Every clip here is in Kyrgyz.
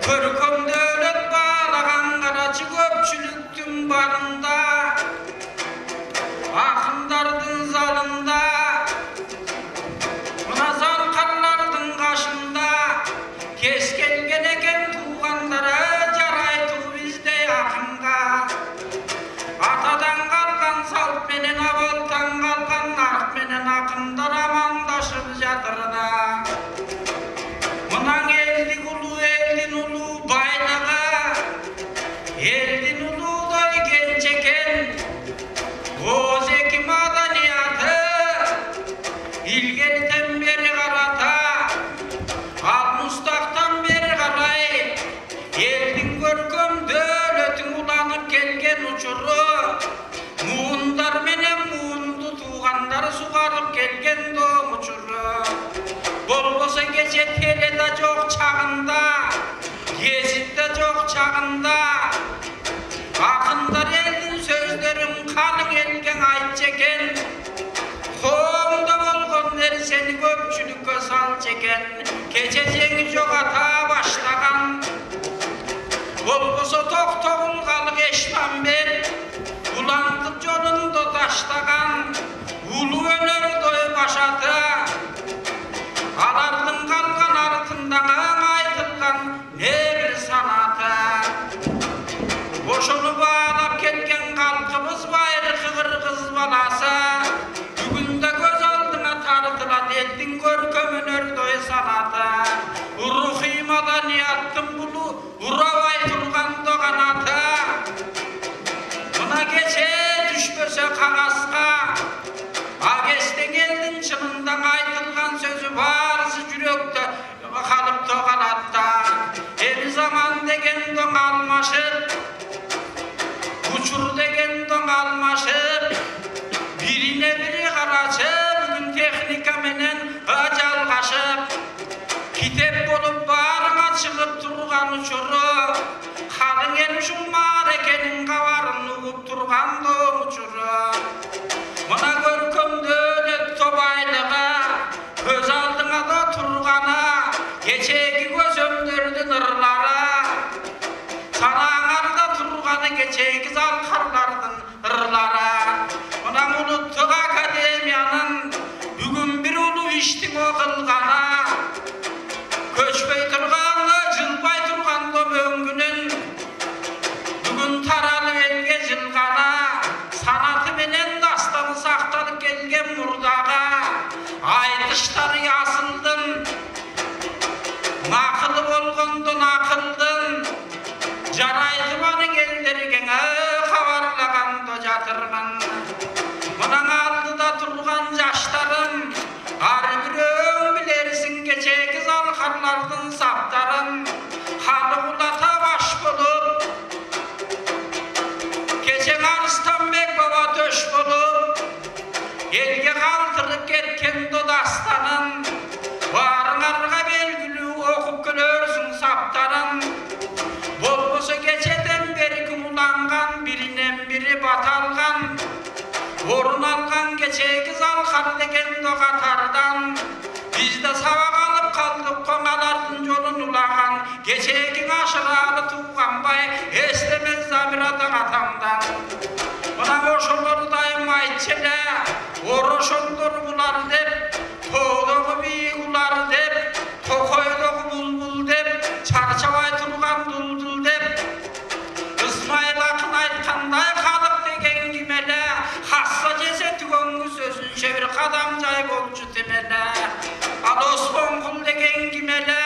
Көркөмдөлөт баалаган карачы көпчүлүктүн барында, акындардын залында, мына залкарлардын кашында кез келген экен туугандары жарайтуу биздей акынга. Атадан калган салт менен абалдан калган нарк менен акындар амандашып жатырда. Мына элдин улуу байлыгы, элдин улуудой кенчекен, оз эки маданияты илгертен бери карата, ал мустактан бери карай элдин көркөм дөөлөтүн уланып келген учуру, муундар менен муунду туугандар сугарып келген доо учуру. Болбосо кече теледе жок чагында, гезитте жок чагында, акындар элдин сөздөрүн калың элге айтчу экен. Коомдо болгон нерсени көпчүлүккө салчу экен. Кече жеңи жогата баштаган. Болбосо токтогул калык Эшмамбет улантып жолундо таштаган. Улуу өнөрдөй башаты, алардын калган артындагы айтылган не бир санаты. Ошону баалап келген калкыбыз байыркы кыргыз баласы, бүгүндө көз алдыңа тартылат элдин көркөм өнөрдөй санаты. Рухий маданияттын булу урабай тургандо канаты. Мына кече түшпөсө кагазга, агестен элдин чынында айтылган сөзү баарысы жүрөктө калыпты калатта. Эл заман деген доң алмашып, учур деген доң алмашып, бирине бири карачып, бүгүн техника менен жалгашып, китеп болуп баарыңа чыгып турган учуру, калың эл ушул маарекенин кабарын угуп турган доо учуру. Мына көркөмдөлөт байлыгы, көз алдыңада турганы, кечеги көзөмдөрдүн ырлары, санаңарда турганы кечеги залкарлардын ырлары. Мына улуттук академиянын бүгүн бир улуу иштин окулганы, көчпөй турганы, жылбай тургандо мөңгүнүн бүгүн таралып элге жылганы, санаты менен дастаны сакталып келген мурдага айтыштары асылдын, акылы болгондон акылдын, жарайды баның элдерге кабарлагандо жатырмын. Мына алдыда турган жаштарым, ар бирөөң билерсиң кечеги залкарлардын саптарын, халық улата баш болуп, кече Арыстанбек баба төш болуп, элге калтырып кеткен додастанын, баарыңарга белгилүү окуп көрөрсүң саптарын. Болбосо кечеден бери кумуланган, биринен бири баталган, орун алган кечеги залкар деген до катардан, бизде сабак алып калдык коңалардын жолун улаган, кечеги ашыралы тууганбай эстемес Замирада атамдан. Мына ошолор дайым айтчу эле, орошондор булар деп, тоодогу бийик улар деп, токойдогу булбул деп, чарчабай турган дулдул деп. Исмайыл акын айткандай, калык деген ким эле, хасса жесе түгөнгү сөзүнчө бир кадам жай болчу темеле. Ал Осмонкул деген ким эле,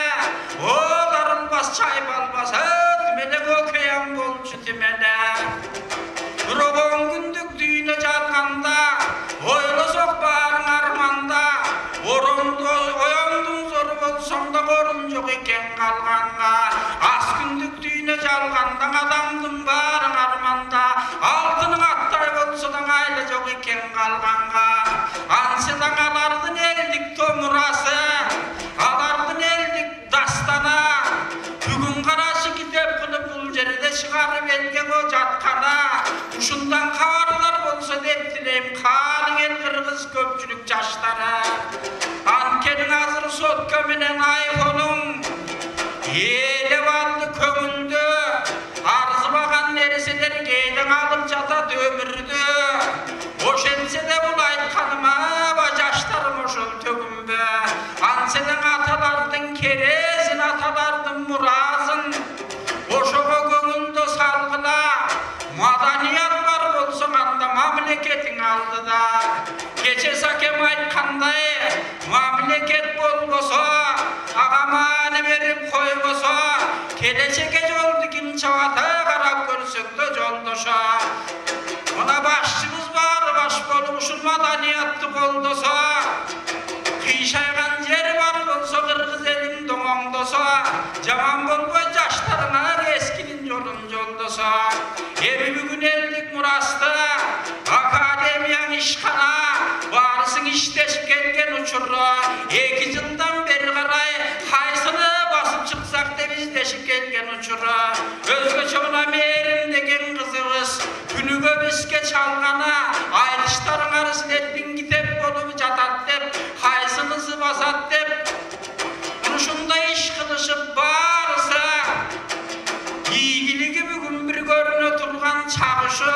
дарылбас чайпалбас темеле көкөям болчу темеле. Бирок он күндүк дүйнө жалганда, ойлосок баарың арманда, оюндун зор болсоң да орун жок экен калганга. Аз күндүк дүйнө жалганда адамдын баарың арманда, алтының аттай болсо да айлы жок экен калганга. Ансыдан алардын элдик томурасы, алардын элдик дастана, бүгүн карашы китеп кылып бул жерде чыгарып элге жаткана. Ушундан кабарлар болсо деп тилейм, калың эл кыргыз көпчүлүк жаштары. Анткени азыр сотка менен айфонуң элеп алды аракет болбосо, агаманы берип койбосо, келечекке жолду ким чабата карап көрсөктө жолдошо. Мына башчыбыз бар, баш болуп ушул маданиятты колдосо, кыйшайган жер бар болсо, кыргыз элин доңоңдосо, жаман болбой жаштарына эскинин жолун жолдосо. Эми бүгүн элдик мурасты, академияң ишкана, барысың иштешип келген учурда, 2 жылдан бери карай кайсыны басып чыксак деп издешип келген учурда, өзгөчө мына Мээрим деген кызыбыз күнүгө бизге чалгана айтыштарыңар силердин китеп болуп жатат деп, кайсынысы басат деп, ушундай иш кылышып барса, ийгилиги бүгүн бир көрүнө турган чагышы,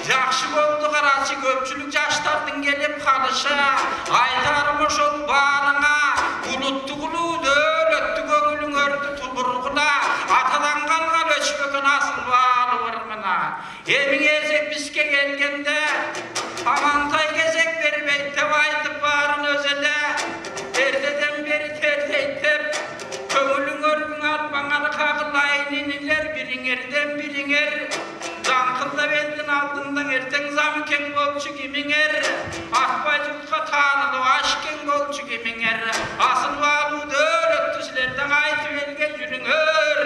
жакшы болду карачы көпчүлүк жаштардын келип калышы. Айтарым ошол баарыңа, улуттугулуу дөөлөттү көңүлүңөрдү тулургула, атадан калган өчпөгөн асыл баары мына. Эми кезек бизге келгенде, Амантай кезек бербейт деп айтып баарын өзеле, эртеден бери терлейт деп, көңүлүңөрдүн арбаңар кагылайын инилер, бириңерден бириңер, жаңкылдап элдин алдында эртең замкең болчу кимиңер, акбай журтка таанылып ашкең болчу кимиңер, асыл баалуу дөөлөттү силерден айтып элге жүрүңөр,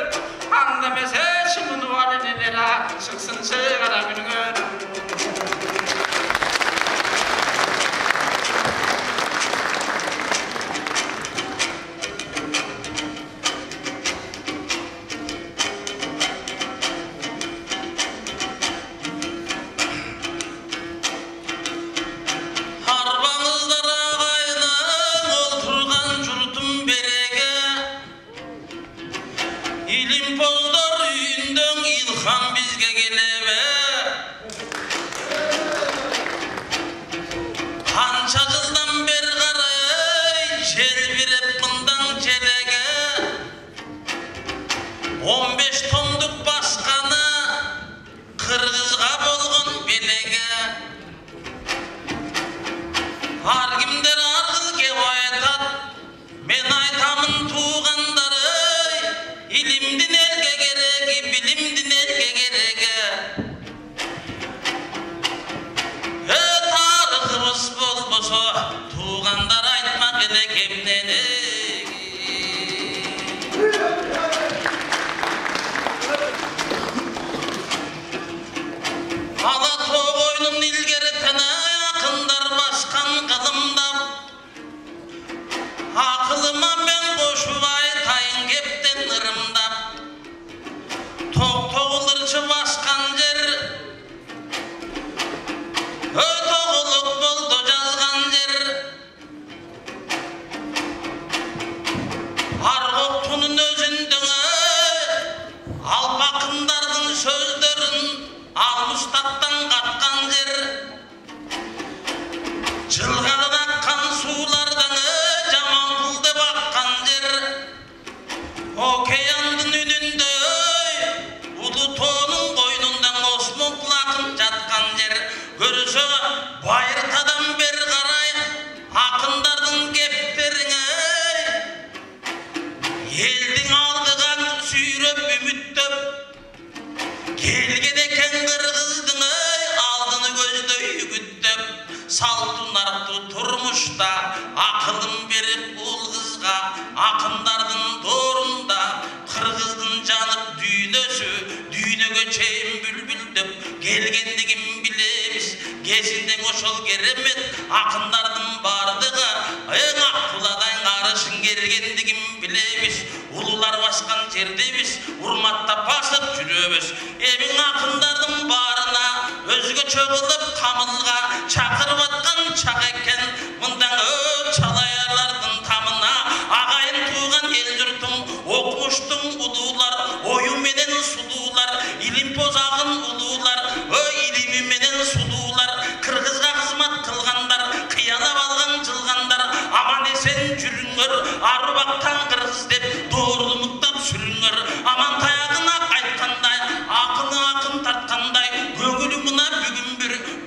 анда эмесе чымыны бар энелер чыксын чыгара күнүңөр.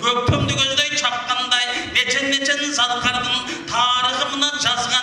Көктөмдү көздөй чапкандай, нечен садкардын тарыхы мына жазган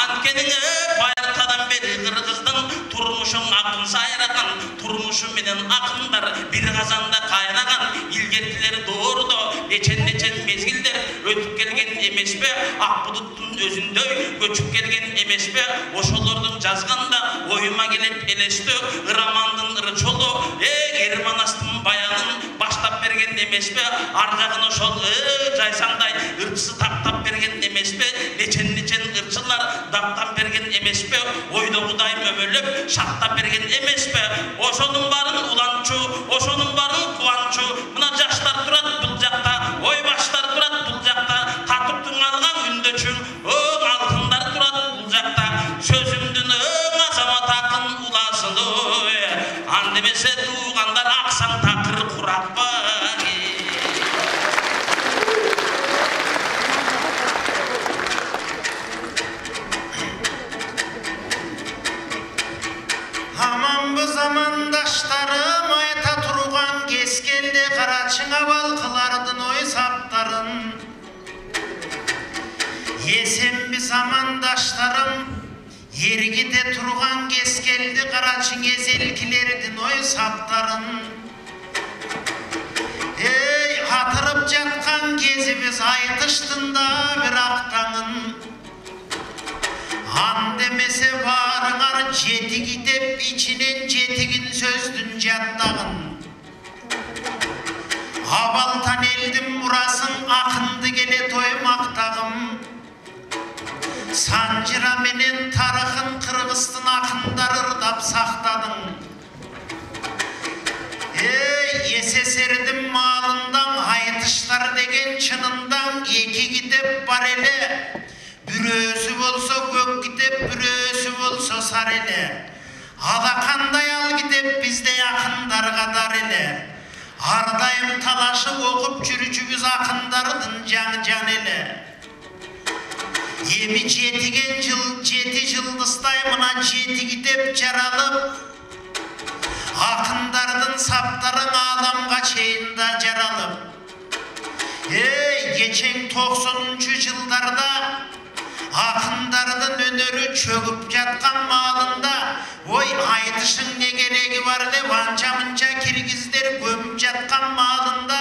Анткени байыртадан бери кыргыздын турмушун акын сайраган, турмушу менен акындар бир казанда кайнаган. Илгертилер доордо нечен мезгилдер өтүп келген эмеспи? Ак булуттун өзүндөй көчүп келген эмеспи? Ошолордун жазганда оюма келет элестөө, романдын ырчолу, Эрманастын баянын баштап берген эмеспи? Ар жагын ошол жайсаңдай ырчысы тактап берген эмеспи? Нечен ырчылар дактап берген эмеспи? Ойдогудай мөмөлөп шаттап берген эмеспи? Ошонун баарын уланчу, ошонун баарын кубанчу. Мына жаштар турат бул жакта, ой баштар турат бул жакта, татып тыңалган үндөчүң, алтындар турат бул жакта. Сөзүмдүн азамат акын уласын, андемесе туугандар аксаң такыр куратпа. Замандаштарым айта турган кез келди, карачыңа балкылардын ой саптарын. Эсемби замандаштарым, эргите турган кез келди, карачың эзелкилердин ой саптарын. Катырып жаткан кезибиз айтыштын да бир актаңын. Андемесе барыңар жетиги деп ичинен жетигин сөздүн жаттагын. Абалтан элдин мурасын акынды келе той мактагым. Санжыра менен тарыхын кыргыздын акындар ырдап сактадың. СССРдин маалындан айтыштар деген чынындан эки китеп бар эле. Бүрөөсү болсо көк китеп, бүрөөсү болсо сар эле. Ада кандай ал китеп биздей акындарга дар эле. Ар дайым талашып окуп жүрүүчүбүз акындардын жан эле. Эми жети жылдыздай мына жети китеп жаралып, акындардын саптарын аламга чейин да жаралып. Кечең 90-жылдарда акындардын өнөрү чөгүп жаткан маалында, ой айтышың не кереги бар деп анча мынча киргиздер көмүп жаткан маалында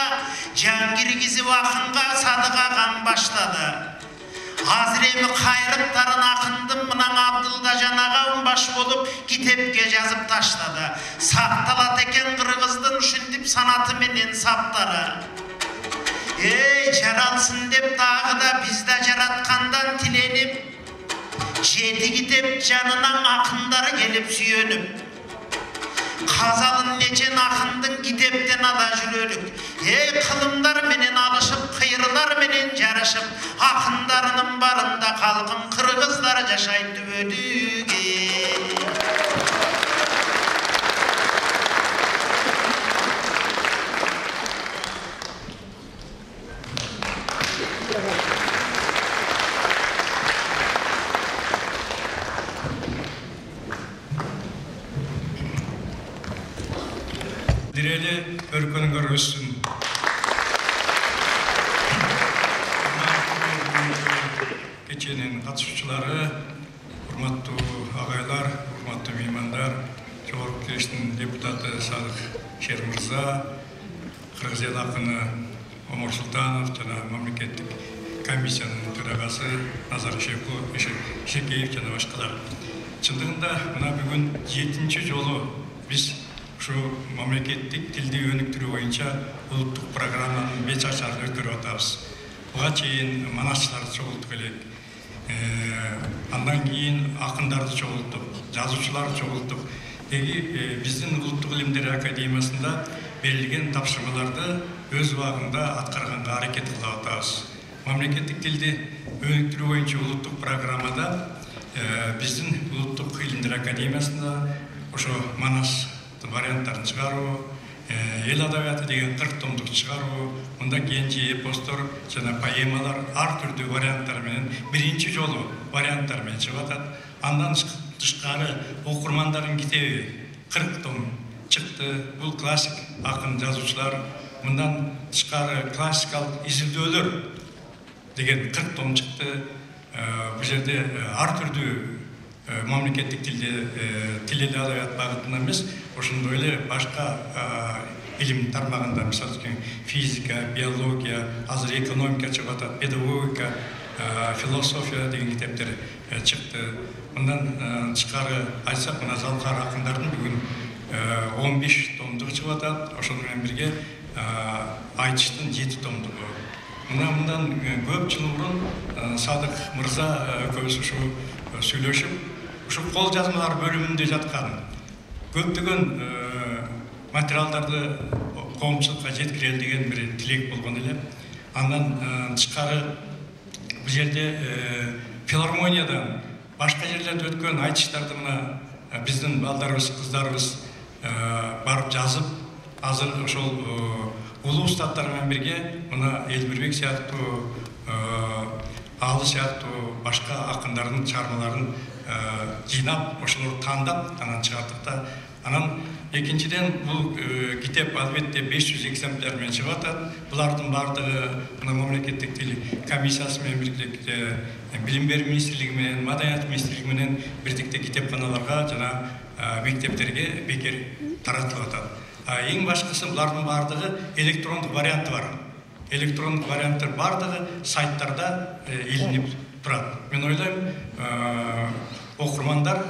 жан киргизип акынга садыка кан баштады. Азыр эми кайрыптарын акындын мынан Абдылдажан агам баш болуп китепке жазып таштады. Сакталат экен кыргыздын ушинтип санаты менен саптары. Жаралсын деп дагы да бизде жараткандан тиленип, жети китеп жанынан акындары келип сүйөнүп. Казалын нечен акындын китептен ала жүрөлүк. Кылымдар менен алышып, кыйрылар менен жарышып, акындарынын барында калкын кыргыздар жашайт түбөлүгү. Дирели өркөнүңөр өссүн. Кеченин катышуучулары, урматтуу агайлар, урматтуу меймандар, Жогорку Кеңештин депутаты Садык Шер мырза, Кыргыз эл акыны Омар Султанов жана мамлекеттик комиссиянын төрагасы Назар Шекеев жана башкалар. Чындыгында мына бүгүн 7-чи жолу биз ушу мамлекеттик тилди өнүктүрүү боюнча улуттук программанын 5 ашарын өткөрүп атабыз. Буга чейин манасчыларды чогулттук элек. Андан кийин акындарды чогулттук, жазуучуларды чогулттук. Биздин Улуттук илимдер академиясында берилген тапшырмаларды өз убагында аткарганга аракет кылып атабыз. Мамлекеттик тилди өнүктүрүү боюнча улуттук программада биздин Улуттук илимдер академиясында ошо манас варианттарын чыгаруу, эл адабияты деген 40 томдук чыгаруу, мында кенже эпостор жана поэмалар ар түрдүү варианттар менен биринчи жолу варианттар менен чыгып атат. Андан тышкары окурмандардын китеби 40 том чыкты. Бул классик акын жазуучулар, мындан тышкары классикалык изилдөөлөр деген 40 том чыкты. бул жерде ар түрдүү мамлекеттик тилде тил адабият багытында эмес, ошондой эле башка илим тармагында, мисалы үчүн физика, биология, азыр экономика чыгып атат, педагогика, философия деген китептер чыкты. Мындан тышкары айтсак, мына Залкар акындардын бүгүн 15 томдугу чыгып атат. Ошону менен бирге айтыштын 7 томдугу. Мындан көп жыл мурун Садык мырза экөөбүз ушу сүйлөшүп, ушу кол жазмалар бөлүмүндө жаткан көптөгөн материалдарды коомчулукка жеткирели деген бир тилек болгон эле. Андан тышкары бул жерде филармониядан башка жерлерде өткөн айтыштарды мына биздин балдарыбыз, кыздарыбыз барып жазып, азыр ошол улуу устаттар менен бирге мына Элмирбек сыяктуу, Алы сыяктуу башка акындардын чыгармаларын жыйнап, ошолорду тандап, анан чыгардык да. Анан экинчиден бул китеп албетте 500 экземпляр менен чыгып атат. Булардын бардыгы мына мамлекеттик тил комиссиясы менен бирдикте, Билим берүү министрлиги менен, Маданият министрлиги менен бирдикте китепканаларга жана мектептерге бекер таратылып атат. Эң башкысы булардын бардыгы электрондук варианты бар. Электрондук варианттар бардыгы сайттарда илинип турат. Мен ойлойм, окурмандар,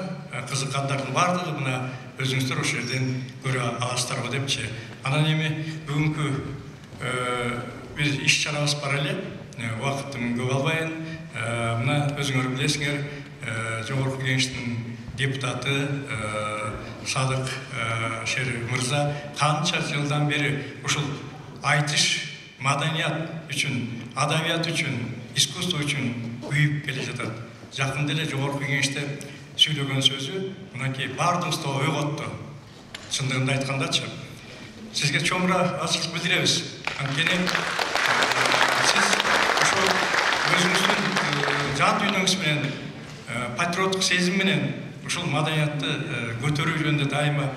кызыккандардын бардыгы мына өзүңүздөр ошол жерден көрө аласыздарбы депчи. Анан эми бүгүнкү биз иш чарабыз бар эле, убакыттын көп албайын. Мына өзүңөр билесиңер, Жогорку Кеңештин депутаты Садык Шер мырза канча жылдан бери ушул айтыш, маданият үчүн, адабият үчүн, искусство үчүн күйүп келе жатат. Жакында эле Жогорку Кеңеште сүйлөгөн сөзү мынакей бардыгыбызды ойготту. Чындыгында айткандачы, сизге чоңура ачык билдиребиз. Анткени сиз ошол өзүңүздүн жан дүйнөңүз менен, патриоттук сезим менен ушул маданиятты көтөрүү жөнүндө дайыма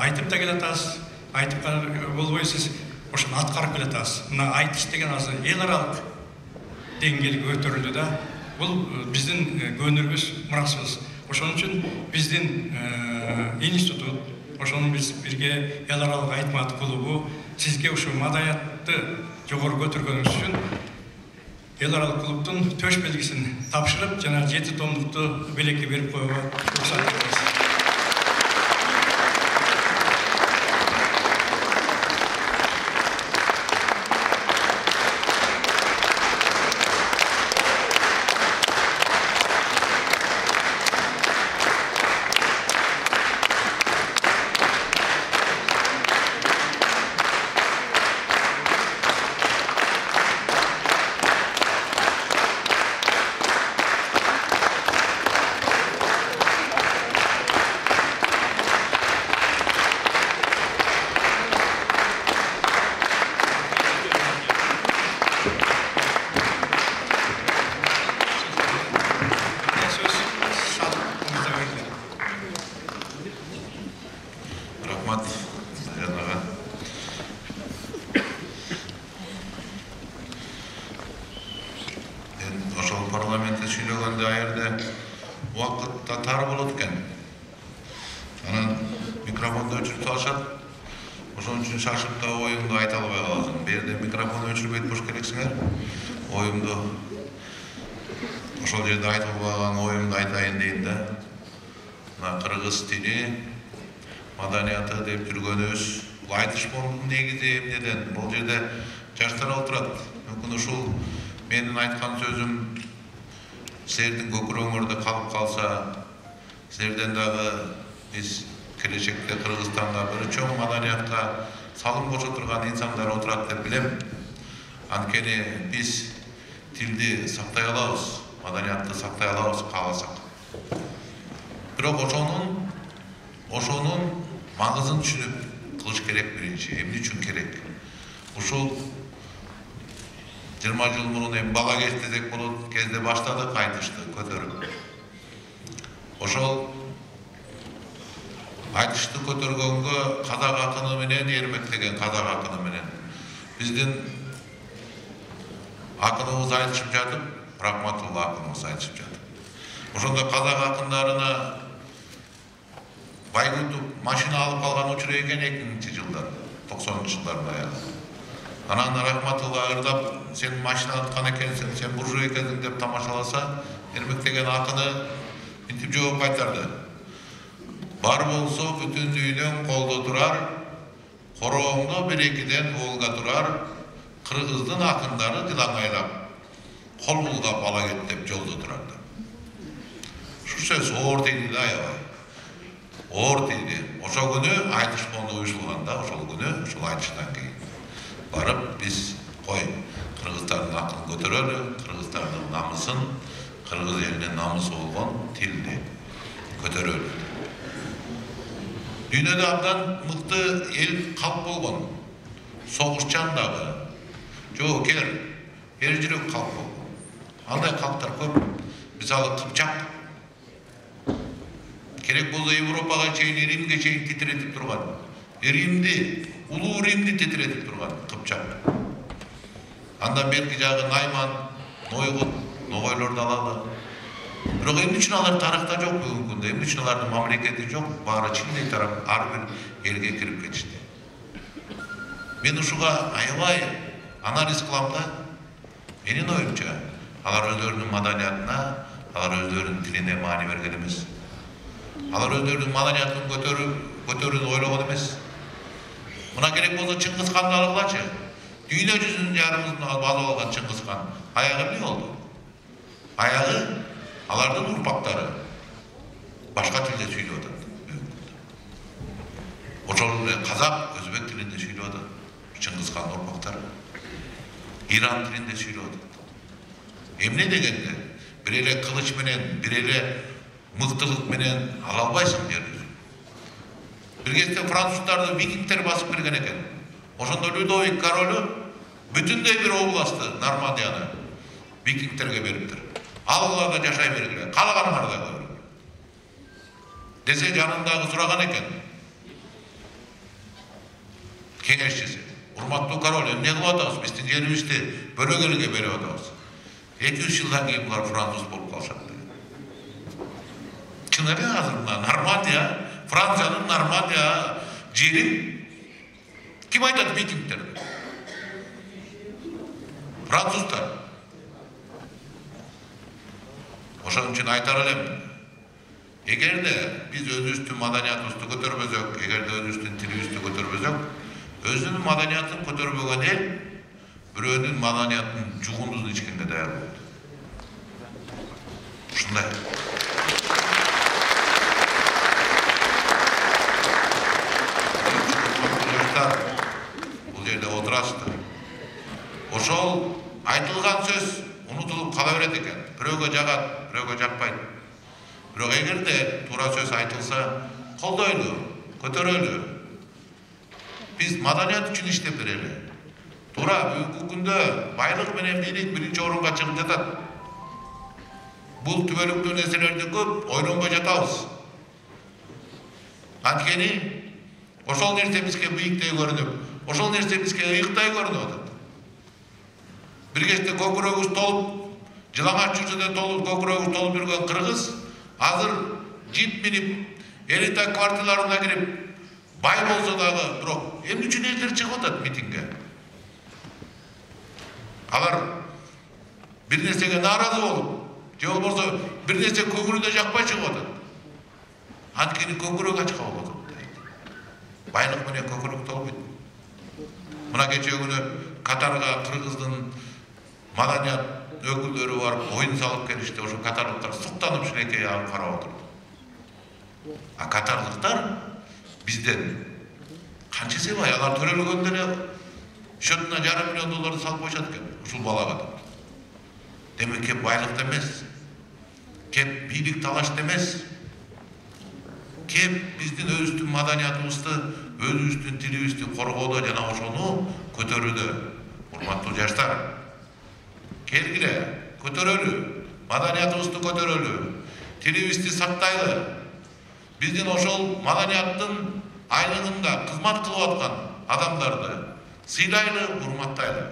айтып да келатасыз. Айтып болбой сиз ошону аткарып келатасыз. Мына айтыш деген азыр эл аралык деңгээлге көтөрүлдү да. Бул биздин көнүрүбүз, мурасыбыз. Ошон үчүн биздин институт, ошону биз бирге эл аралык айтмат клубу сизге ушул маданиятты жогору көтөргөнүңүз үчүн эл аралык клубдун төш белгисин тапшырып, жана 7 томдукту белекке берип коюуга уруксат беребиз. Парламентте сүйлөгөндө аерде убакыт тар болот экен. Анан микрофонду өчүрүп салышат. Ошон үчүн шашып да оюңду айта албай каласың. Берде микрофон өчүрбөйт болуш керексиңер. Оюмду ошол жерде айтып албаган оюмду айтайын дейин да. Мына кыргыз тили, маданияты деп жүргөнүбүз, бул айтыш фондунун негизи эмнеден? Бул жерде жаштар отурат. Мүмкүн ушул менин айткан сөзүм силердин көкүрөңөрдө калып калса, силерден дагы биз келечекте Кыргызстанда бир чоң маданиятка салым кошо турган инсандар отурат деп билем. Анткени биз тилди сактай алабыз, маданиятты сактай алабыз кааласак. Бирок ошонун маңызын түшүнүп кылыш керек биринчи. Эмне үчүн керек? Ушул 20 жыл мурун эми бала кеч десек болот, кезде баштадык айтышты көтөрүп. Ошол айтышты көтөргөнгө казак акыны менен, Эрмек деген казак акыны менен биздин акыныбыз айтышып жатып, Рахматулла акыныбыз айтышып жатыр. Ошондо казак акындарына Байгутов машина алып калган учуру экен 2000-жылдар, 90-жылдардын аягында. Анан Рахматулла ырдап, сен машина аткан экенсиң, сен буржуй экенсиң деп тамашаласа, Эрмектеген акыны мынтип жооп кайтарды. Бар болсо бүтүн дүйнөң колдо турар, корооңдо бир-экиден Волга турар, кыргыздын акындары дилаңайлап, кол булгап ала кет деп жолдо турарды. Ушу сөз оор тийди да аябай. Оор тийди. Ошол күнү айтыш фонду уюшулганда, ошол күнү, ошол айтыштан кийин барып биз кой кыргыздардын акылын көтөрөлү, кыргыздардын намысын, кыргыз элинин намысы болгон тилди көтөрөлү. Дүйнөдө абдан мыкты эл калп болгон. Согушчан дагы, жоокер, эр жүрөк калп болгон. Андай калптар көп. Мисалы Кыпчак. Керек болсо Европага чейин, Римге чейин титиретип турган. Римди, улуу Римди титиретип турган Кыпчак. Андан берки жагы Найман, Нойгут, Ногойлорду алалы. Бирок эмне үчүн алар тарыхта жок бүгүнкү күндө? Эмне үчүн алардын мамлекети жок? Баары чындый тарап ар бир элге кирип кетишти. Мен ушуга аябай анализ кылам да. Менин оюмча, алар өздөрүнүн маданиятына, алар өздөрүнүн тилине маани берген эмес. Алар өздөрүнүн маданиятын көтөрүүнү ойлогон эмес. Мына керек болсо Чыңгыз Ханды алгылачы. Дүйнө жүзүнүн жарымын алып алган Чыңгыз Хан. Аягы эмне болду? Аягы алардын урпактары башка тилде сүйлөп атат. Ошол эле казак, өзбек тилинде сүйлөп атат. Чыңгыз Хан урпактары Иран тилинде сүйлөп атат. Эмне дегенде, бир эле кылыч менен, бир эле мыктылык менен ала албайсың жерди. Бир кезде француздарды викингдер басып кирген экен. Ошондо Людовик королу бүтүндөй бир областты, Нормандияны викингдерге бериптир. Алгыларда жашай бергиле, каалаганыңарды көрүп. Десе жанындагы сураган экен. Кеңешчиси, урматтуу король, эмне кылып атабыз? Биздин жерибизди бөлөк элге берип атабыз. 200 жылдан кийин булар француз болуп калышат деген. Чын эле азыр мына Нормандия, Франциянын Нормандия жерин ким айтат викингдер? Француздар. Ошон үчүн айтар элем, эгерде биз өзүбүздүн маданиятыбызды көтөрбөсөк, эгерде өзүбүздүн тилибизди көтөрбөсөк, өзүнүн маданиятын көтөрбөгөн эл бирөөнүн маданиятын жугундузун ичкенге даяр болот. Ушундай. Бул жерде отурасыздар. Ошол айтылган сөз унутулуп кала берет экен. Бирөөгө жагат, бирөөгө жакпайт. Бирок эгерде туура сөз айтылса, колдойлу, көтөрөлү. Биз маданият үчүн иштеп берели. Туура бүгүнкү күндө байлык менен бийлик биринчи орунга чыгып жатат. Бул түбөлүктүү нерселерди көп ойлонбой жатабыз. Анткени ошол нерсе бизге бийиктей көрүнүп, ошол нерсе бизге ыйыктай көрүнүп атат. Бир кезде көкүрөгүбүз толуп, жылаңач жүрсөдө толуп, көкүрөгүбүз толуп жүргөн кыргыз азыр жип минип, элита кварталарына кирип, бай болсо дагы, бирок эмне үчүн элдер чыгып атат митингге? Алар бир нерсеге нааразы болуп, же болбосо бир нерсе көңүлүнө жакпай чыгып атат. Анткени көкүрөк ачка болуп атат. Байлык менен көкүрөк толбойт. Мына кече күнү Катарга кыргыздын маданият өкүлдөрү барып оюн салып келишти. Ошо катарлыктар суктанып шилекей алып карап отурду. А катарлыктар бизден канча эсе бай, алар төрөлгөндө эле счетуна $500 миллион салып коюшат экен ушул балага. Демек кеп байлыкта эмес, кеп бийлик талашта эмес, кеп биздин өзүбүздүн маданиятыбызды, өзүбүздүн тилибизди коргоодо жана ошону көтөрүүдө. Урматтуу жаштар, келгиле, көтөрөлү, маданиятыбызды көтөрөлү, тилибизди сактайлы. Биздин ошол маданияттын айлыгында кызмат кылып аткан адамдарды сыйлайлы, урматтайлы.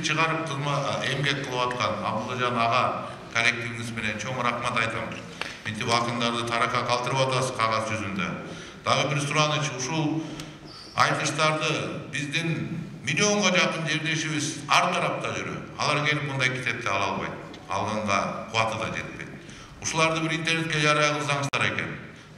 бизди чыгарып эмгек кылып аткан Абдулжан ага коллективибиз менен чоң рахмат айтам. Мынтип акындарды таракка калтырып атасыз кагаз жүзүндө. Дагы бир сураныч, ушул айтыштарды биздин миллионго жакын жердешибиз ар тарапта жүрөт. Алар келип мындай китепти ала албайт. Алганга кубаты да жетпейт. Ушуларды бир интернетке жарыя кылсаңыздар экен.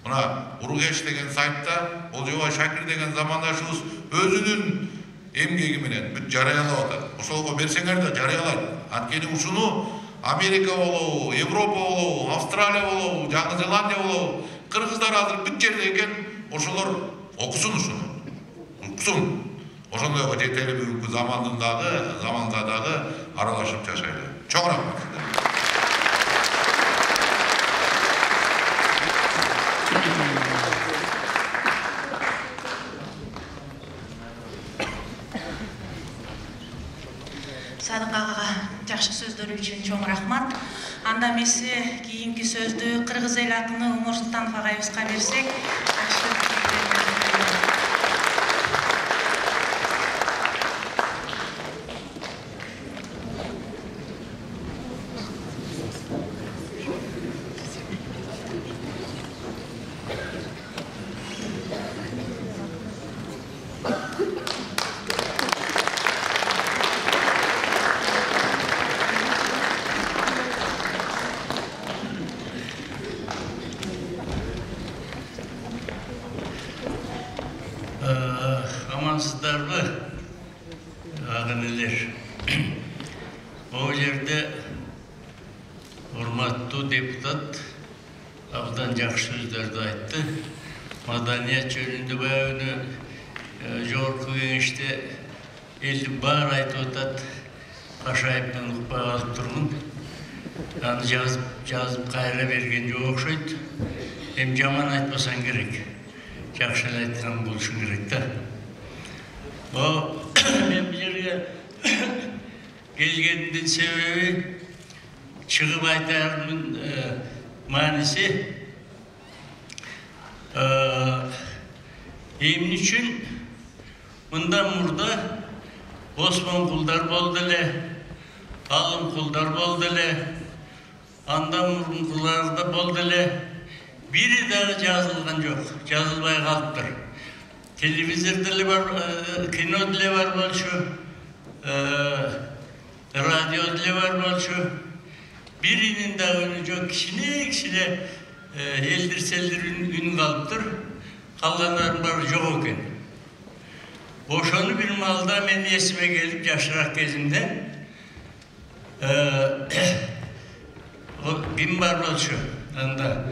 Мына Уругеш деген сайтта Олжобай Шакир деген замандашыбыз өзүнүн эмгеги менен бүт жарыялап атат. Ошолго берсеңер да жарыялайт. Анткени ушуну Америка болобу, Европа болобу, Австралия болобу, Жаңы Зеландия болобу, кыргыздар азыр бүт жерде экен. Ошолор окусун ушуну. Уксун. Ошондойго жетели бүгүнкү заманга дагы аралашып жашайлы. Чоң рахмат сиздерге. Садык агага жакшы сөздөрү үчүн чоң рахмат. Анда эмесе кийинки сөздү кыргыз эл акыны Умар Султанов агайыбызга берсек, амансыздарбы агын элер. Бул жерде урматтуу депутат абдан жакшы сөздөрдү айтты. Маданият жөнүндө баягы жогорку кеңеште элди баары айтып атат. Пашаев менен укпай калып турмун. Аны жазып кайра берген жок окшойт. Эми жаман айтпасаң керек. Жакшы айткан болушуң керек да. Мен бул жерге келгендин себеби чыгып айтарымдын мааниси эмне үчүн мындан мурда Осмон кулдар болду эле, Алым кулдар болду эле, андан мурункуларда болду эле. Бири дагы жазылган жок, жазылбай калыптыр. Телевизор деле бар, кино деле бар болчу, радио деле бар болчу. Биринин дагы үнү жок, кичине элдир-селдир үн калыптыр. Калгандардын баары жок экен. Ошону бир маалда мен эсиме келип жашыраак кезимде ким бар болчу анда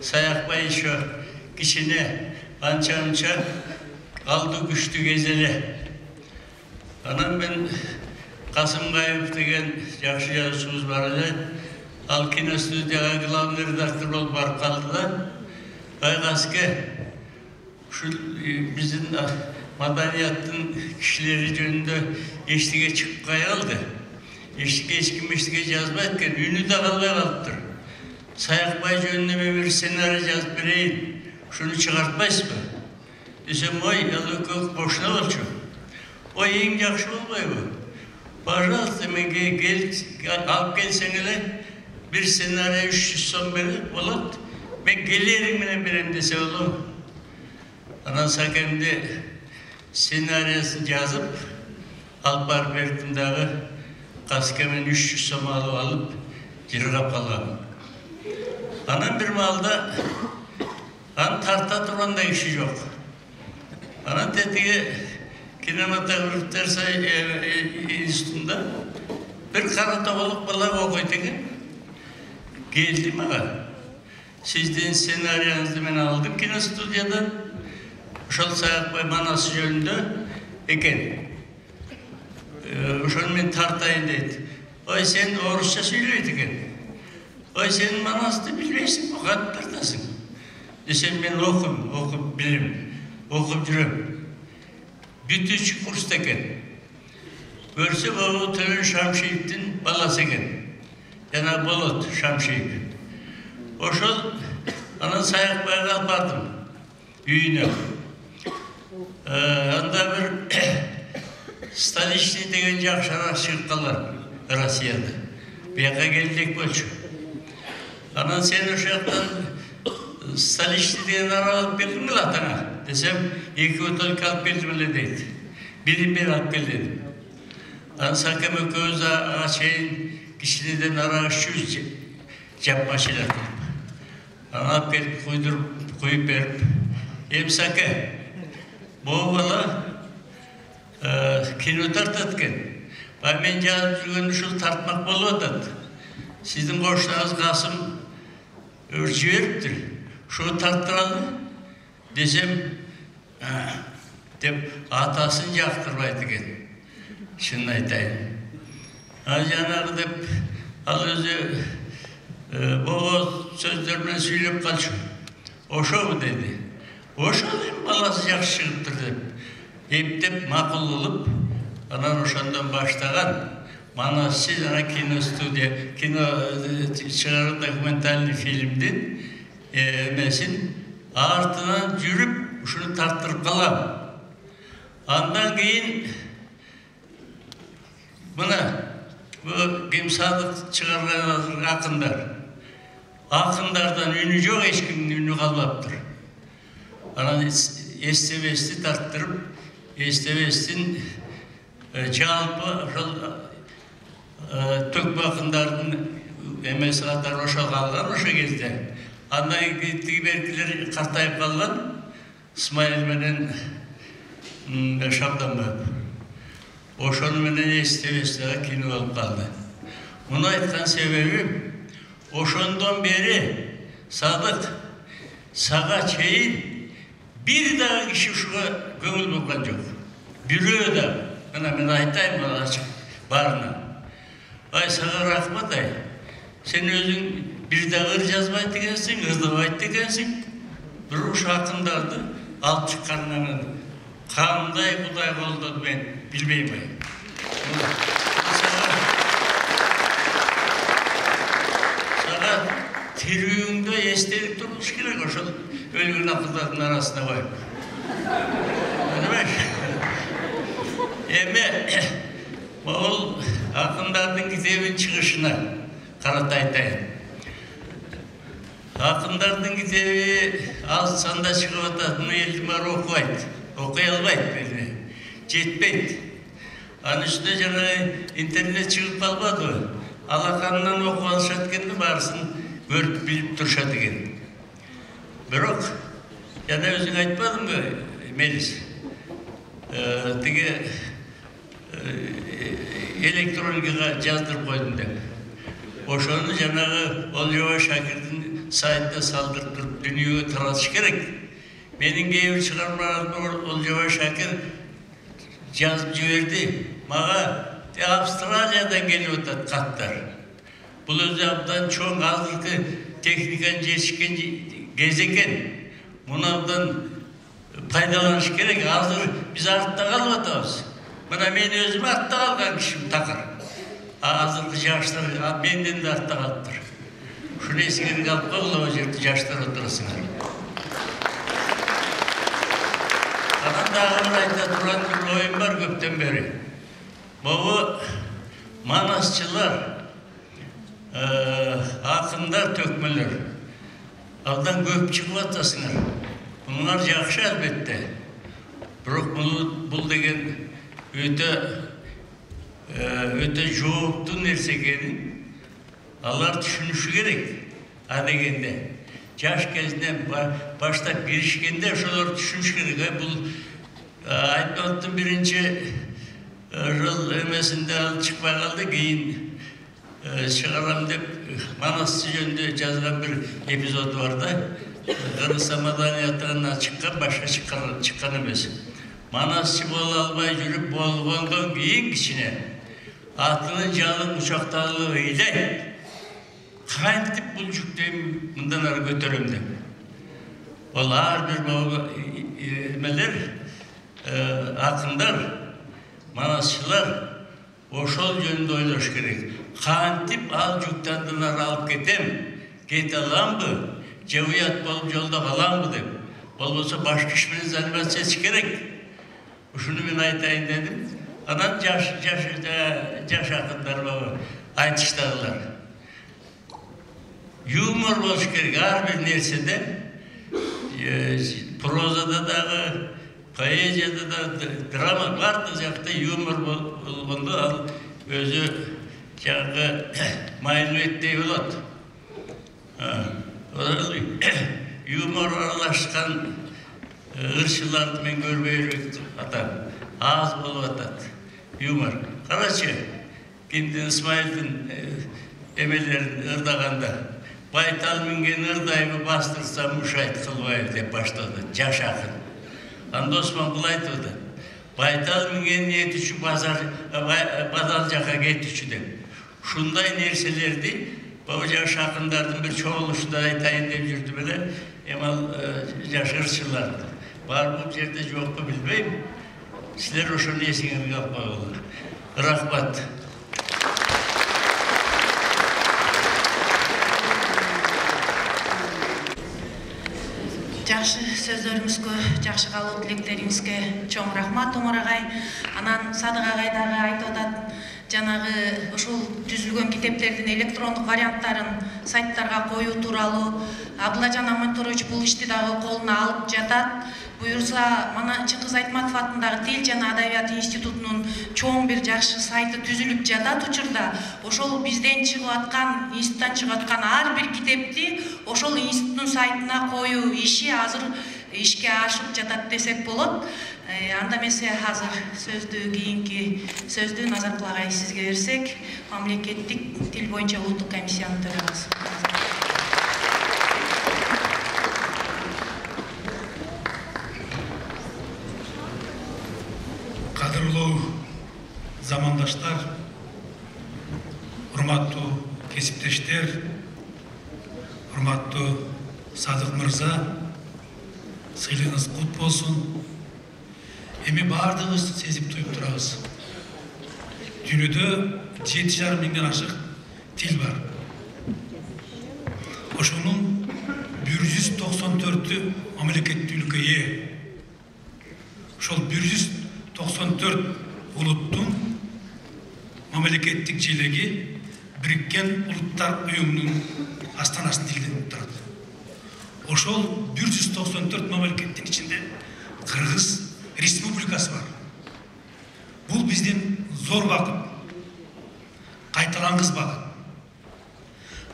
Саякбай еще кичине анча-мынча алды күчтүү кез эле. Анан мен Касымгаев деген жакшы жазуучубуз бар эле. Ал киностудияга главный редактор болуп барып калды да. Байгаске ушул биздин маданияттын кишилери жөнүндө эчтеке чыкпай калды. Эч ким эчтеке жазбайт экен, үнү да калбай калыптыр. Саякбай жөнүндө мен бир сценарий жазып берейин, ушуну чыгартпайсызбы? Десем, ой, ал экөө бошуна болчу. Ой, эң жакшы болбойбу? Пожалуйста, менге алып келсең эле, бир сценарий 300 сом берип болот. Мен келериң менен берем десе болобу? Анан Сакемди сценарийsin жазып, алып барып бердим дагы. Каскемен 300 сом алып, жыргап калгам. Анан бир маалда аны тарта тургандай киши жок. Анан тетиги кинематографтар институтунда бир кара тоголук бала окуйт экен. Келди мага. Сиздин сценарийиңизди мен алдым киностудиядан. Ошол Саякбай манасы жөнүндө экен. Ошону мен тартайын дейт. Ой, сен орусча сүйлөйт экен. Ой, сен манасты билбейсиң, кантип тартасың? Десем, мен окуп билем, окуп жүрөм. Бүтүүчү курста экен. Көрсө, бул Төлөн Шамшиевдин баласы экен. Жана Болот Шамшиев. Ошол анан Саякбайга алып бардым үйүнө. Анда бир Столичный деген жакшыраак чыгып калган Россияда. Бияка келдик болчу. Анан сен ошол жактан Столичный деген арба алып келдиңби атаңа десем, 2 бутылка алып келдим эле дейт. Бирин мен алып кел дедим. Анан Сакем экөөбүз ага чейин кичинеден арак ішүүбүз жап машина кылып. Анан алып келип куюп берип, Саке, могу бала кино тартат экен. Мен жазып жүргөн ушул тартмак болуп атат. Сиздин кошунуңуз Касым жибериптир. Ошо тарттыралы десем, деп атасын жактырбайт экен. Шынын айтайын. Жанагы деп ал өзү боо сөздөр менен сүйлөп калчу. Ошобу деди. Ошол эми баласы жакшы чыгыптыр деп. Эптеп макул кылып, анан ошондон баштаган Манасчы жана киностудия, кино чыгарган документальный фильмдин эмесин артынан жүрүп, ушуну тарттырып калам. Андан кийин мына бу Кемсадык чыгарган акындар. Акындардан үнү жок, эч кимдин үнү калбаптыр. Анан эстебести тарттырып, эстебестин жалпы ошол төкпө акындардын эмеси катары ошо калган ошо кезде. Андан кийин беркилер картайып калган, Исмаил менен Шабданбаев. Ошону менен эстебестиге кино болуп калды. Муну айткан себебим, ошондон бери Садык сага чейин бир дагы киши ушуга көңүл бурган жок. Бирөө да, мына мен айтайын мына ачык баарына. Ай, сага рахмат ай. Сен өзүң бир дагы ыр жазбайт экенсиң, ырдабайт экенсиң. Бирок ушу акындарды алып чыкканынан кандай Кудай колдоду мен билбейм ай. Сага тирүүңдө эстелик туруш керек ошол өлгөн акындардын арасына коюп. Эми бул акындардын китебин чыгышына карата айтайын. Акындардын китеби аз санда чыгып атат, муну элдин баары окубайт, окуй албайт, жетпейт. Анын үстүнө жана интернет чыгып калбадыбы? Алаканынан окуп алышат экенди, баарысын көрүп билип турушат экен. Бирок жана өзүң айтпадыңбы, Мелис? Тиги электроникага жаздырып койдум деп. Ошону жанагы Олжобай Шакирдин сайтына салдырып туруп дүйнөгө таратыш керек. Менин кээ бир чыгармаларымды Олжобай Шакир жазып жиберди. Мага Австралиядан келип атат каттар. Бул өзү абдан чоң азыркы техниканын жетишкен кез экен. Муну абдан пайдаланыш керек. Азыр биз артта калып атабыз. Мына мен өзүм артта калган кишим такыр. Азыркы жаштар менден да артта калыптыр. Ушуну эсиңерге алып койгула, ал жерде жаштар отурасыңар. Анан дагы бир айта турган бир оюм бар көптөн бери. Могу манасчылар, акындар, төкмөлөр абдан көп чыгып атасыңар. Муңар жакшы албетте. Бирок бул деген өтө жооптуу нерсе экенин алар түшүнүшү керек. А дегенде жаш кезинен баштап киришкенде ошолор түшүнүш керек. Бул айтмактын биринчи ошол эмесинде ал чыкпай калды, кийин чыгарам деп Манасчы жөнүндө жазган бир эпизод бар да. Кыргыз маданиятынан чыккан, башка чыккан эмес. Манасчы боло албай жүрүп болгондон кийин кичине атынын жалын учакталып ыйлайт. Кантип бул жүктөйм мындан ары көтөрөм деп. Ол ар бир эмелер, акындар, манасчылар ошол жөнүндө ойлош керек. Кантип ал жүктөн ары алып кете аламбы, же уят болуп жолдо каламбы деп. Болбосо башка иш менен заниматься этиш керек. Ушуну мен айтайын дедим. Анан жаш акындар айтыштагылар. Юмор болуш керек ар бир нерседе, прозада дагы, поэзияда да, драма бардык жакта юмор болгондо ал өзү жаңы майлуу эттей болот. Юмор аралашкан ырчыларды мен көрбөй элек атам. Аз болуп атат юмор. Карачы, Кимдин Исмаилдин эмелерин ырдаганда байтал минген ырдайбы бастырсам мушайт кылбайбы деп баштады жаш акын. Анда Осман бул айтып атат. Байтал минген этүчү базар жака кетүчү деп. Ушундай нерселерди бул жаш акындардын бир чогулушунда айтайын деп жүрдү беле. Эми ал жаш ырчылар бар бул жерде жокпу билбейм. Силер ошону эсиңерге алып койгула. Рахмат. Жакшы сөздөрүңүзгө, жакшы каалоо тилектериңизге чоң рахмат Омар агай. Анан Садык агай дагы айтып атат, жанагы ушул түзүлгөн китептердин электрондук варианттарын сайттарга коюу тууралуу. Абылажан Аманторович бул ишти дагы колуна алып жатат. Буюрса, мана Чыңгыз Айтматов атындагы Тил жана Адабият институтунун чоң бир жакшы сайты түзүлүп жатат учурда. Ошол бизден чыгып аткан, институттан чыгып аткан ар бир китепти ошол институттун сайтына коюу иши азыр ишке ашып жатат десек болот. Анда эмесе азыр сөздү кийинки сөздү Назаркул агай сизге берсек, мамлекеттик тил боюнча улуттук комиссиянын төрагасы. Кадырлуу замандаштар, урматтуу кесиптештер, урматтуу Садык мырза, сыйлыгыңыз кут болсун. Эми баардыгыбыз сезип туюп турабыз. Дүйнөдө 7,5 миңден ашык тил бар. Ошонун 194 мамлекеттүүлүккө ээ. Ошол 194 улуттун мамлекеттик желеги Бириккен Улуттар уюмунун астанасынын тилинен турат. Ошол 194 мамлекеттин ичинде Кыргыз Республикасы бар. Бул биздин зор бакыт, кайталангыс бакыт.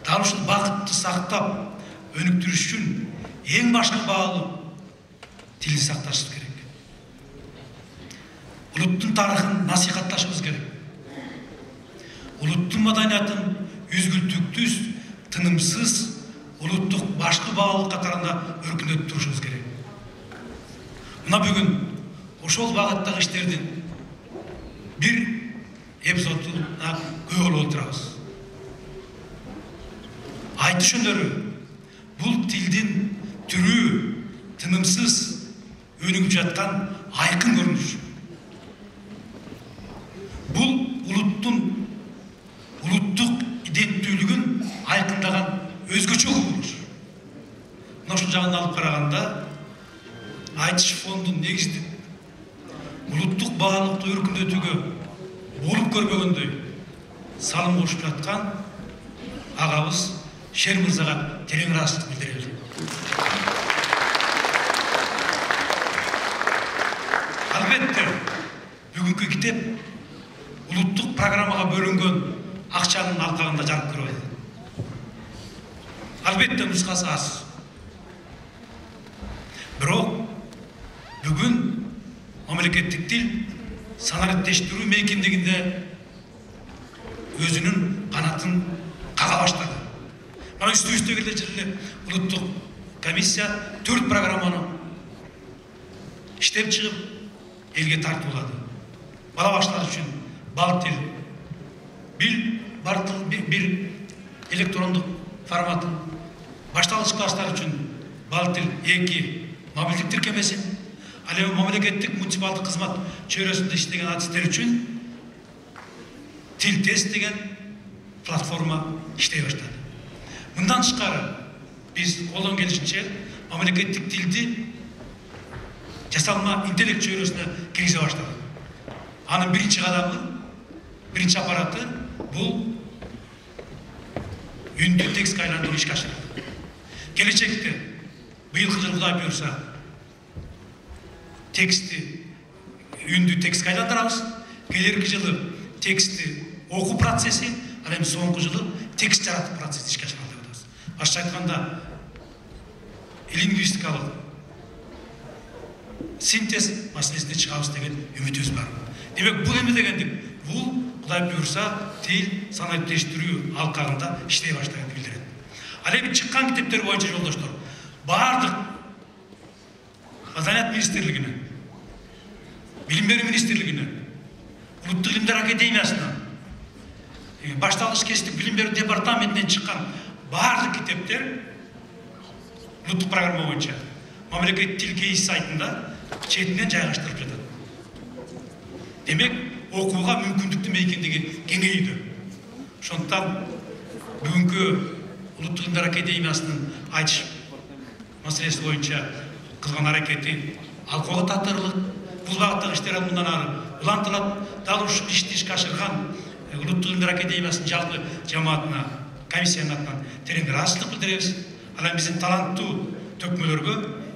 Дал ушул бакытты сактап, өнүктүрүш үчүн эң башкы баалуу тилди сакташыбыз керек. Улуттун тарыхын насихатташыбыз керек. Улуттун маданиятын үзгүлтүктүз, тынымсыз улуттук башкы баалуу катарында өркүндөтүп турушубуз керек. Мына бүгүн ошол багыттагы иштердин бир эпизодуна күбө болуп отурабыз. Айтыш өнөрү бул тилдин түрүү, тынымсыз өнүгүп жаткан айкын көрүнүш. Бул улуттун улуттук иденттүүлүгүн айкындаган өзгөчө кубулуш. Мына ушул жагын алып караганда, айтыш фондун негиздик улуттук баалыкты өркүндөтүүгө болуп көрбөгөндөй салым кошуп жаткан агабыз Шер мырзага терең ыраазычылык билдирели. Албетте, бүгүнкү китеп улуттук программага бөлүнгөн акчанын алкагында жарык көрүп атат. Албетте нускасы аз. Бирок бүгүн мамлекеттик тил санариптештирүү мейкиндигинде өзүнүн канатын кага баштады. Мана үстүбүздөгү эле улуттук комиссия 4 программаны иштеп чыгып элге тартуулады. Бала баштар үчүн бал тил бир электрондук форматын, башталгыч класстар үчүн бал тил 2 мобилдик тиркемесин, ал эми мамлекеттик муниципалдык кызмат чөйрөсүндө иштеген адистер үчүн тил тест деген платформа иштей баштады. Мындан тышкары биз колдон келишинче мамлекеттик тилди жасалма интеллект чөйрөсүнө киргизе баштадык. Анын биринчи кадамы, биринчи аппараты бул үндү текстке айландыруу ишке ашырылды. Келечекте быйылкы жылы Кудай буйрса текстти үндү текстке айландырабыз. Келерки жылы текстти окуу процесси, ал эми соңку жылы текст жаратуу процесси ишке ашырылды деп атабыз. Башкача айтканда лингвистикалык синтез маселесине чыгабыз деген үмүтүбүз бар. Демек бул эме дегендик? Бул Кудай буйрса тил санааттештирүү алкагында иштей баштаганды билдирет. Ал эми чыккан китептер боюнча жолдоштор, баардык Маданият министрлигине, Билим берүү министрлигине, Улуттук илимдер академиясына, башталгыч кесиптик билим берүү департаментинен чыккан баардык китептер улуттук программа боюнча мамлекеттик тил кейс сайтында четинен жайгаштырылып жатат. Демек, окууга мүмкүндүктүү мейкиндиги кеңейди. Ошондуктан бүгүнкү Улуттук илимдер академиясынын айтыш маселеси боюнча кылган аракети алкоого татырлык. Бул багыттагы иштер мындан ары улантылат. Дал ушул ишти ишке ашырган Улуттук илимдер академиясынын жалпы жамаатына, комиссиянын атынан терең ыраазычылык билдиребиз. Ал эми биздин таланттуу төкмөлөргө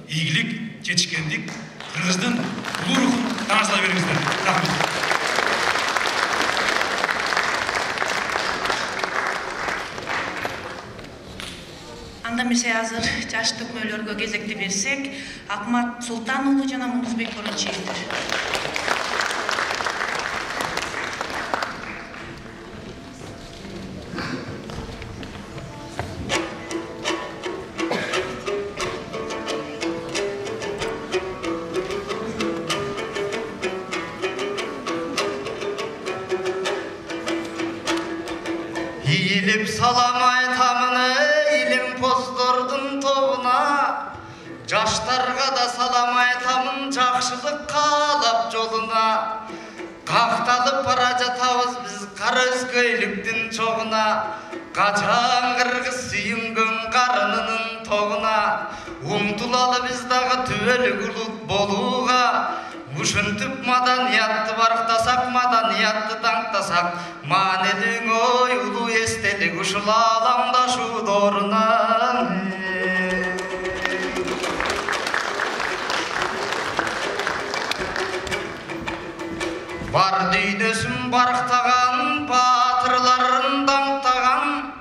ийгилик, жетишкендик, Кыргыздын улуу рухун таңазлай бериңиздер. Рахмат. Анда эмесе азыр жаш төкмөлөргө кезекти берсек, Акмат Султан уулу жана Мундузбек Борончиевдер. Иилип салам айтамын илим поздордун тобуна, жаштарга да салам айтамын жакшылык каалап жолуна. Какталып бара жатабыз биз кара өзгөйлүктүн чогуна, качан кыргыз сүйүнгөн карынынын тогуна. Умтулалы биз дагы түбөлүк улут болууга, ушинтип маданиятты барктасак, маданиятты даңктасак, маанилүү ой улуу эстелик ушул ааламдашуу дооруна. Бар дүйнөсүн барктаган, баатырларын даңктаган,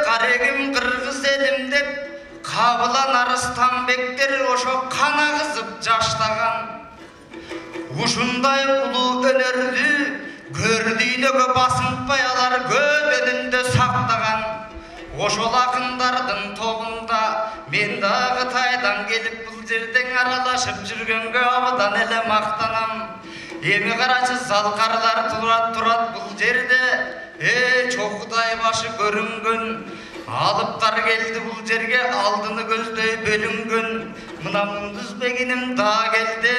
карегим кыргыз элим деп Кабылан Арыстанбектер ошо кан агызып жаштаган. Ушундай улуу өнөрдү көрдүйнөгө басынтпай алар көбөнүндө сактаган. Ошол акындардын тобунда мен дагы Тайдан келип бул жерден аралашып жүргөнгө абдан эле мактанам. Эми карачы залкарлар турат бул жерде, чокудай башы көрүнгөн. Алыптар келди бул жерге, алдыны көздөй бөлүнгөн. Мына Мундузбегиним да келди,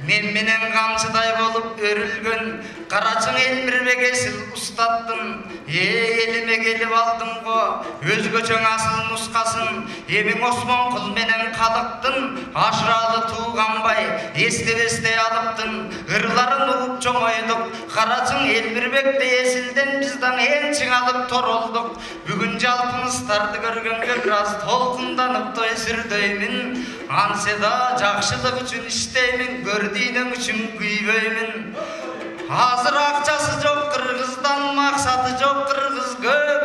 мен менен камчыдай болуп өрүлгөн. Карачың Элмирбек Эсил устаттын, элиме келип алдым го өзгөчө асыл нускасын. Эмиң Осмон кул менен калыктын, ашыралы тууганбай эстебестей алыптын. Ырларын угуп чоңойдук, карачың Элмирбекти Эсилден биз да эң чыңалып торолдук. Бүгүн жалпыңыздарды көргөнгө бир аз толкунданып той сүрдөймүн. Анседа жакшылык үчүн иштеймин, көрдүйнөң үчүн күйбөймүн. Азыр акчасы жок кыргыздан, максаты жок кыргыз көп.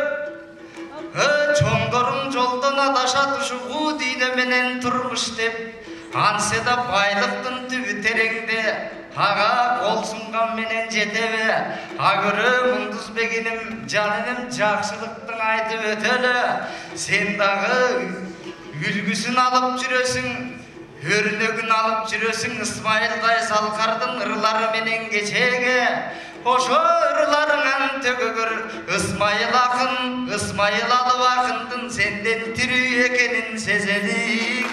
Чоңдорум жолдон адашат ушугу дүйнө менен турмуш деп. Анседа байлыктын түбү тереңде, ага кол сунган менен жетебе. Агыры Мундузбегиним жаным жакшылыктын айтып өтөлө. Сен дагы үлгүсүн алып жүрөсүң, өрнөгүн алып жүрөсүң. Исмайылдай Салкардын ырлары менен кечеге. Ошо ырларыңан төгөгөр Исмайыл акын, Исмайыл алып акындын сенден тирүү экенин сезелик.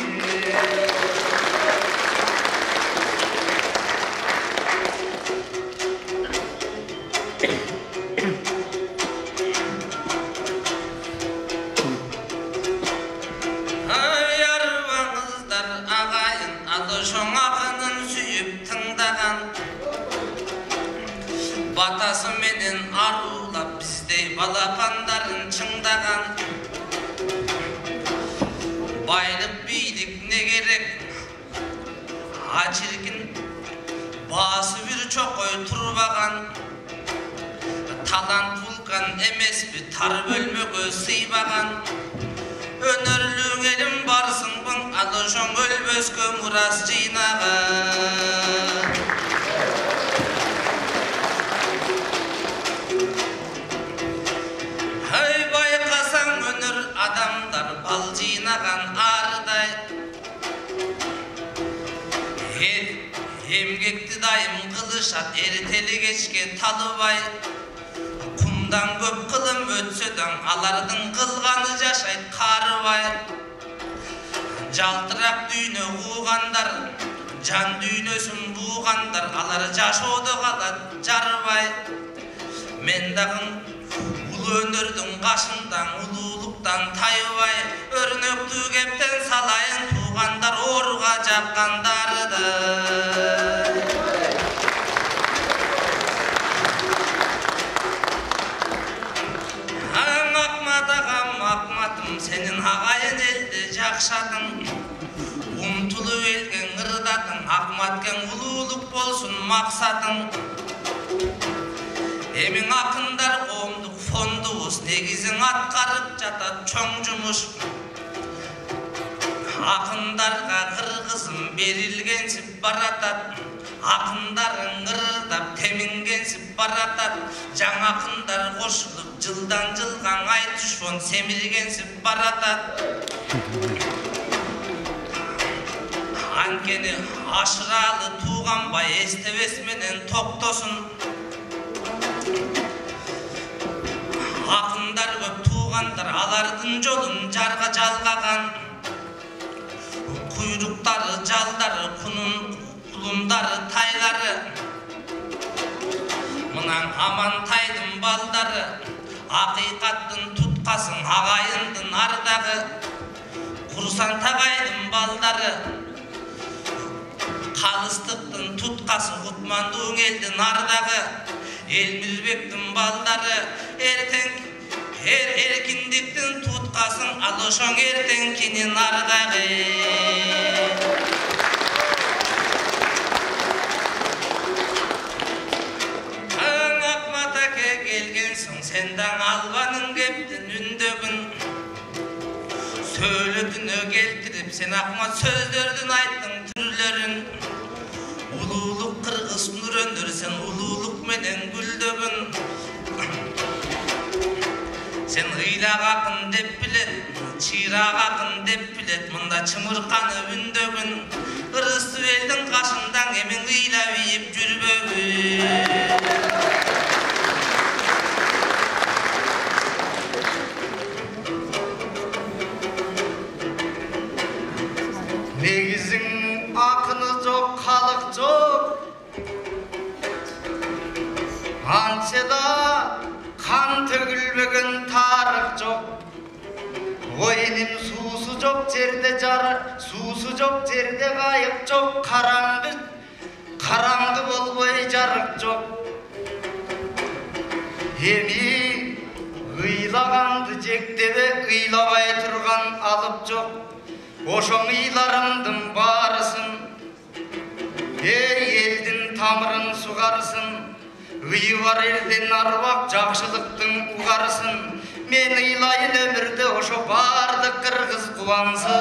батасы менен арулап биздей балапандарын чыңдаган. Байлык бийлик не керек, ачиркин баасы бир чокой турбаган. Талант вулкан эмеспи, тар бөлмөгө сыйбаган. Өнөрлүң элим барсыңбын, ал ошоң өлбөскө мурас жыйнаган. Ай байкасаң өнөр адамдар бал жыйнаган арыдай. Эмгекти дайым кылышат, эртели кечке талыбай. Кумдан көп кылым өтсө даң, алардын кылганы жашайт карыбай. Жалтырак дүйнө куугандар, жан дүйнөсүн буугандар, алар жашоодо калат жарыбай. Мен дагы улуу өнөрдүн кашындан, улуулуктан тайыбай, өрнөктүү кептен салайын туугандар ооруга жаккандарды. Акматым сенин агайын элди жакшадың, умтулуп элген ырдадың, акматкен улуулук болсун максатың. Эмиң акындар коомдук фондубуз, негизин аткарып жатат чоң жумуш. Акындарга кыргызым берилгенсип баратат, акындарың ырдап темингенсип баратат. Жаңа акындар кошулуп жылдан жылга айтыш фон семиргенсип баратат. Анткени ашыралы тууганбай эстебес менен токтосун. Акындар көп туугандар алардын жолун жарга жалгаган. Куйруктары жалдары, кулундары тайлары. Мынан Амантайдын балдары, акыйкаттын туткасын агайындын ардагы. Курсан Тагайдын балдары, калыстыктын туткасы Кутмандуу элдин ардагы. Элмирбектин балдары, эркиндиктин туткасын, ал ошоң эртеңкинин ардагы. Sen daң albanın keptin ündögün, söylödünö keltirip sen akmat sözdördün ayttın türlörün. Ululuk kırgız nur öndür, sen ululuk menen güldögün. Sen gıylak akın dep bilet, çiğrak akın dep bilet, mında çımırkanı ündögün. Kırgızı elдің kaşından emin gıyla biyip jürbögün. Негизиң акыны жок, калык жок. Анчада кан төгүлбөгөн тарых жок. Ойним суусу жок жерде суусу жок жерде кайык жок. Караңгы болбой жарык жок. Эми ыйлаганды жектебе ыйлабай турган алып жок. Ошоң ыйларымдын баарысын, элдин тамырын сугарысын. Ыйы бар элден арбак жакшылыктын угарысын. Мен ыйлайын өмүрдө ошо бардык кыргыз кубансын.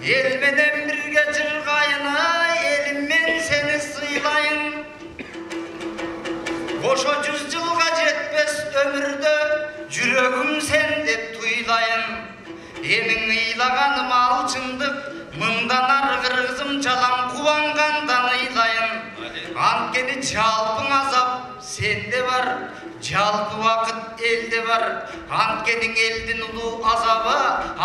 Эл менен бирге жыргайын, элим мен сени сыйлайын. Ошо 100 жылга жетпес өмүрдө жүрөгүм сен деп туйлайын. Эмиң ыйлаганым алчындык, мындан ары кыргызым жалаң кубангандан ыйлайын. Анткени жалпың азап сенде бар, жалпы вакыт элде бар. Анткени элдин улуу азабы